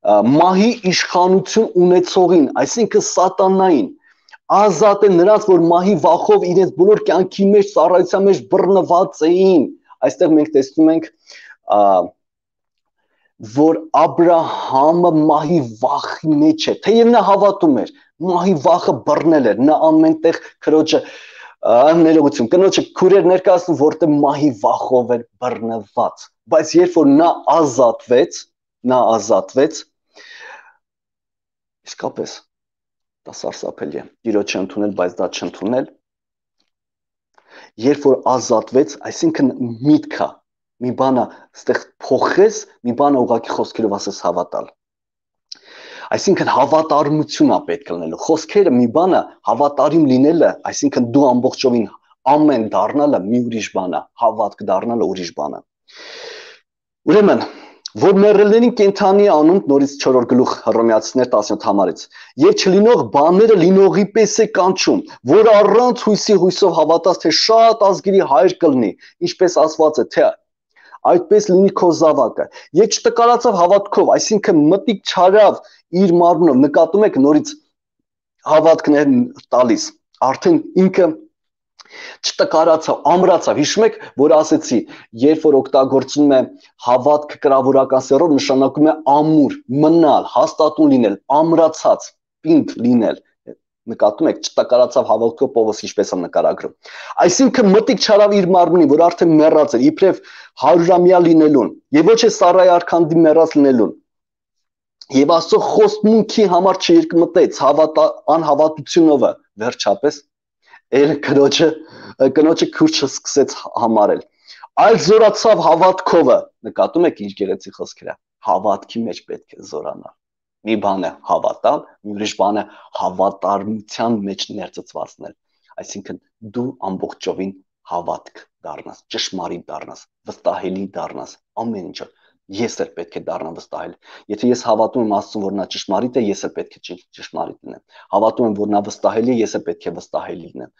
մահի իշխանություն ունեցողին, այսինքն սատանային, ազատ է նրանց, որ մահի վախով իրենց բոլոր կյանքի մեջ, ծառայության մեջ բռնված էին։ Այստեղ մենք տեսնում ենք, որ Աբրահամը մահի վախի մեջ է, թեև նա հավատում էր, մահի վախը բռնել էր, նա ամենտեղ քրոջը ներողություն, կնոջը քուրեր ներկայացնում, որտեղ մահի վախով էր բռնված, բայց երբ որ նա ազատվեց, իսկապես դա սարսափելի է, Տիրոջը ընդունել, բայց դա չընդունել, երբ որ ազատվեց, այսինքն միտքը, մի բանը ստեղ փոխես, մի բանը ուղղակի խոսքերով ասես հավատալ, այսինքն հավատարմություն է պետք լինելու, խոսքերը մի բանը հավատարիմ լինելը, այսինքն դու ամբողջովին ամեն դառնալը մի ուրիշ բան է, հավատք դառնալը ուրիշ բան է։ Ուրեմն, որ մեռելներին կենդանի անուն, նորից 4-րդ գլուխ Հռոմեացիներ 17 համարից, եւ չլինող բաները լինողի պես է կանչում, որ առանց հույսի հույսով հավատաց, թե շատ ազգերի հայր կլինի, ինչպես ասված է, թե այդպես լինի քո զավակը։ Եկ չտկարացավ հավատքով, այսինքն մտիկ չարավ իր մարմնով, նկատում եք նորից հավատքն է տալիս, արդեն ինքը չտկարացավ, ամրացավ, հիշում եք, որ ասեցի, երբ որ օգտագործում է հավատքը կրավորական սեռով, նշանակում է ամուր, մնալ, հաստատուն լինել, ամրացած, պինդ լինել, նկատում եք, չտկարացավ հավատքով Պողոս ինչպես է նկարագրում։ Այսինքն մտիկ չարավ իր մարմնի, որ արդեն մեռած էր, իբրև 100-ամյա լինելուն, եւ ոչ է Սարայի արքանդի մեռած լինելուն։ Եվ Աստծո խոստմունքի համար չերկմտեց անհավատությունով, վերջապես կնոջը քուրչը սկսեց համարել, այլ զորացավ հավատքովը, նկատում եք ինչ գեղեցիկ խոսքեր է, հավատքի մեջ պետք է զորանալ, մի բան է հավատալ, մի ուրիշ բան է հավատարմության մեջ ներծծվածնել, այսինքն դու ամբողջովին հավատք դառնաս, ճշմարիտ դառնաս, վստահելի դառնաս, ամեն ինչը, ես էլ պետք է դառնամ վստահել, եթե ես հավատում եմ Աստծուն, որ նա ճշմարիտ է, ես էլ պետք է ճշմարիտ լինեմ, հավատում եմ, որ նա վստահելի է, ես էլ պետք է վստահելի լինեմ,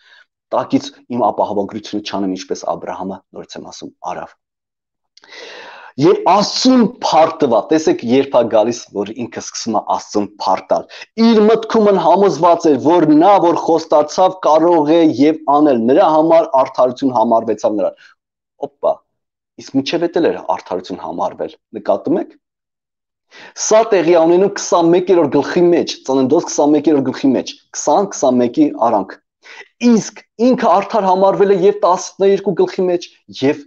տակից իմ ապահովագրությունը չանեմ, ինչպես Աբրահամը, նորից եմ ասում, արավ։ Եվ Աստծուն փառտվա, տեսեք երբ է գալիս, որ ինքը սկսում է Աստծուն փառտալ, իր մտքումն համոզված էր, որ նա, որ խոստացավ, կարող է եւ անել, նրա համար արդարություն համարվեցավ նրան։ Օպա, իսկ միջև էլ էր արդարություն համարվել, նկատում եք։ Սա տեղի ունենում 21-րդ գլխի մեջ, Ծննդոց 21-րդ գլխի մեջ, 20-21-ի արանք։ Իսկ ինքը արդար համարվել է եւ 12 գլխի մեջ եւ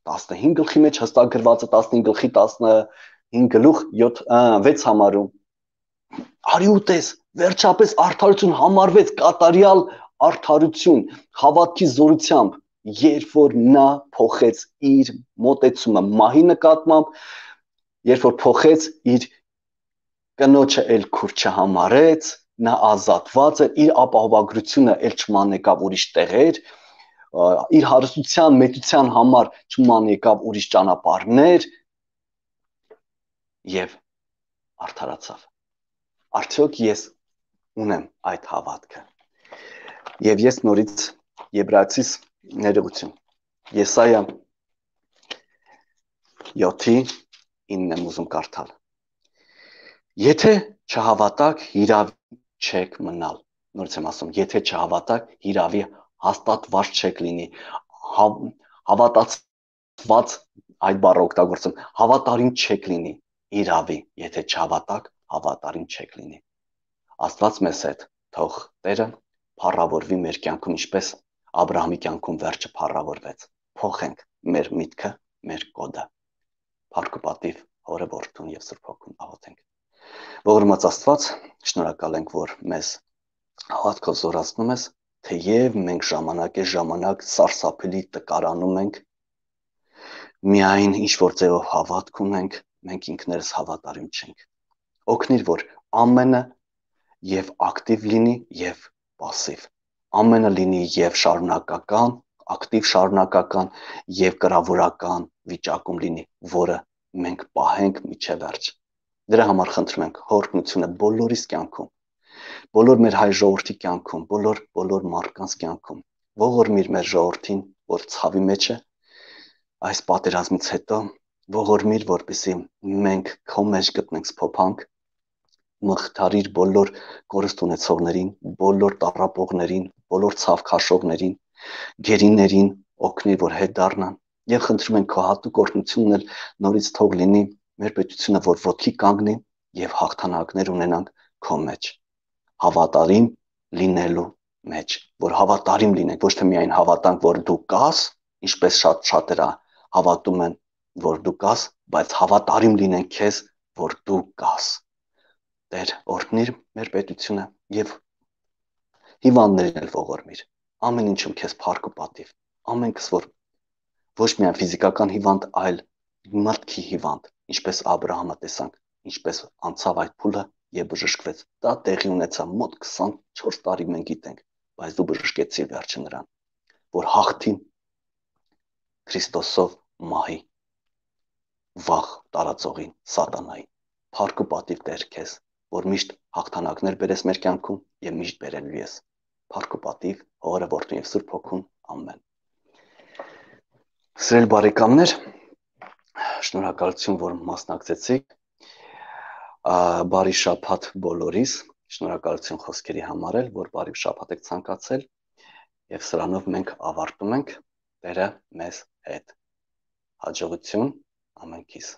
15 գլխի մեջ հստակ գրված է 15 գլխի 15 գլուխ 6 համարում։ Արի ուտես, վերջապես արդարություն համարվեց, կատարյալ արդարություն, հավատքի զորությամբ, երբ որ նա փոխեց իր մոտեցումը մահի նկատմամբ, երբ որ փոխեց իր կնոջը էլ քուր չհամարեց, նա ազատված էր, իր ապահովագրությունը էլ չմանեկավ ուրիշ տեղեր, իր հարստության, մեծության համար չմանեկավ ուրիշ ճանապարհներ եւ արդարացավ։ Արդյոք ես ունեմ այդ հավատքը։ Եվ ես նորից Եբրայեցիս ներողություն։ Եսայա 7:9 եմ ուզում կարդալ։ Եթե չհավատակ, հիրավի չեք մնալ։ Նորից եմ ասում, եթե չհավատակ, հիրավի հաստատված չեք լինի, հավատացված այդ բառը օգտագործում, հավատարիմ չեք լինի, իրավի, եթե չհավատակ, հավատարիմ չեք լինի։ Աստված մեզ հետ, թող Տերը փառավորվի մեր կյանքում, ինչպես Աբրահամի կյանքում վերջը փառավորվեց։ Փոխենք մեր միտքը, մեր կոդը։ Փառք ու պատիվ Հորը, Որդուն եւ Սուրբ Հոգուն աղոթենք։ Ողորմած Աստված, շնորհակալ ենք, որ մեզ հավատքով զորացնում ես, թեև մենք ժամանակ սարսափելի տկարանում ենք, միայն ինչ որ ձևով հավատք ունենք, մենք ինքներս հավատարիմ չենք։ օգնիր, որ ամենը եւ ակտիվ լինի եւ пассив։ Ամենը լինի եւ շարունակական, ակտիվ շարունակական եւ կրավորական վիճակում լինի, որը մենք պահենք միջև վերջ։ Դրա համար խնդրում ենք հօգնությունը բոլորիս կյանքում, բոլոր մեր հայ ժողովրդի կյանքում, բոլոր մարդկանց կյանքում։ Ողորմիր մեր ժողովրդին, որ ցավի մեջ է այս պատերազմից հետո, ողորմիր, որպեսզի մենք քո մեջ գտնենք սփոփանք, մխիթարիր բոլոր կորուստ ունեցողներին, բոլոր տառապողներին, բոլոր ցավ քաշողներին, գերիներին օգնիր, որ հետ դառնան եւ խնդրում ենք քո հատուկ օրհնությունն էլ նորից թող լինի մեր պետությունը, որ ոտքի կանգնի եւ հաղթանակներ ունենանք քո մեջ, հավատարիմ լինելու մեջ, որ հավատարիմ լինենք, ոչ թե միայն հավատանք, որ դու կաս, ինչպես շատերը հավատում են, որ դու կաս, բայց հավատարիմ լինենք քեզ, որ դու կաս։ Տեր, օրհնիր մեր պետությունը եւ հիվանդներին էլ ողորմիր։ Ամեն ինչում քեզ փառք ու պատիվ։ Ամենքս որ ոչ միայն ֆիզիկական հիվանդ, այլ մտքի հիվանդ, ինչպես Աբրահամը տեսանք, ինչպես անցավ այդ փուլը եւ բժշկվեց։ Դա տեղի ունեցավ մոտ 24 տարի մենք գիտենք, բայց դու բժշկեցիր վերջը նրան, որ հաղթի Քրիստոսով մահի վախ տարածողին սատանային։ Փառք ու պատիվ Տեր քեզ, որ միշտ հաղթանակներ բերես մեր կյանքում եւ միշտ բերելու ես։ Փառք ու պատիվ Հորը, Որդուն եւ Սուրբ Հոգուն։ Ամեն։ Սիրելի բարեկամներ, շնորհակալություն, որ մասնակցեցիք։ Բարի շաբաթ բոլորիս։ Շնորհակալություն խոսքերի համար էլ, որ բարի շաբաթ եք ցանկացել եւ սրանով մենք ավարտում ենք Տերը մեզ հետ։ Հաջողություն ամենքիս։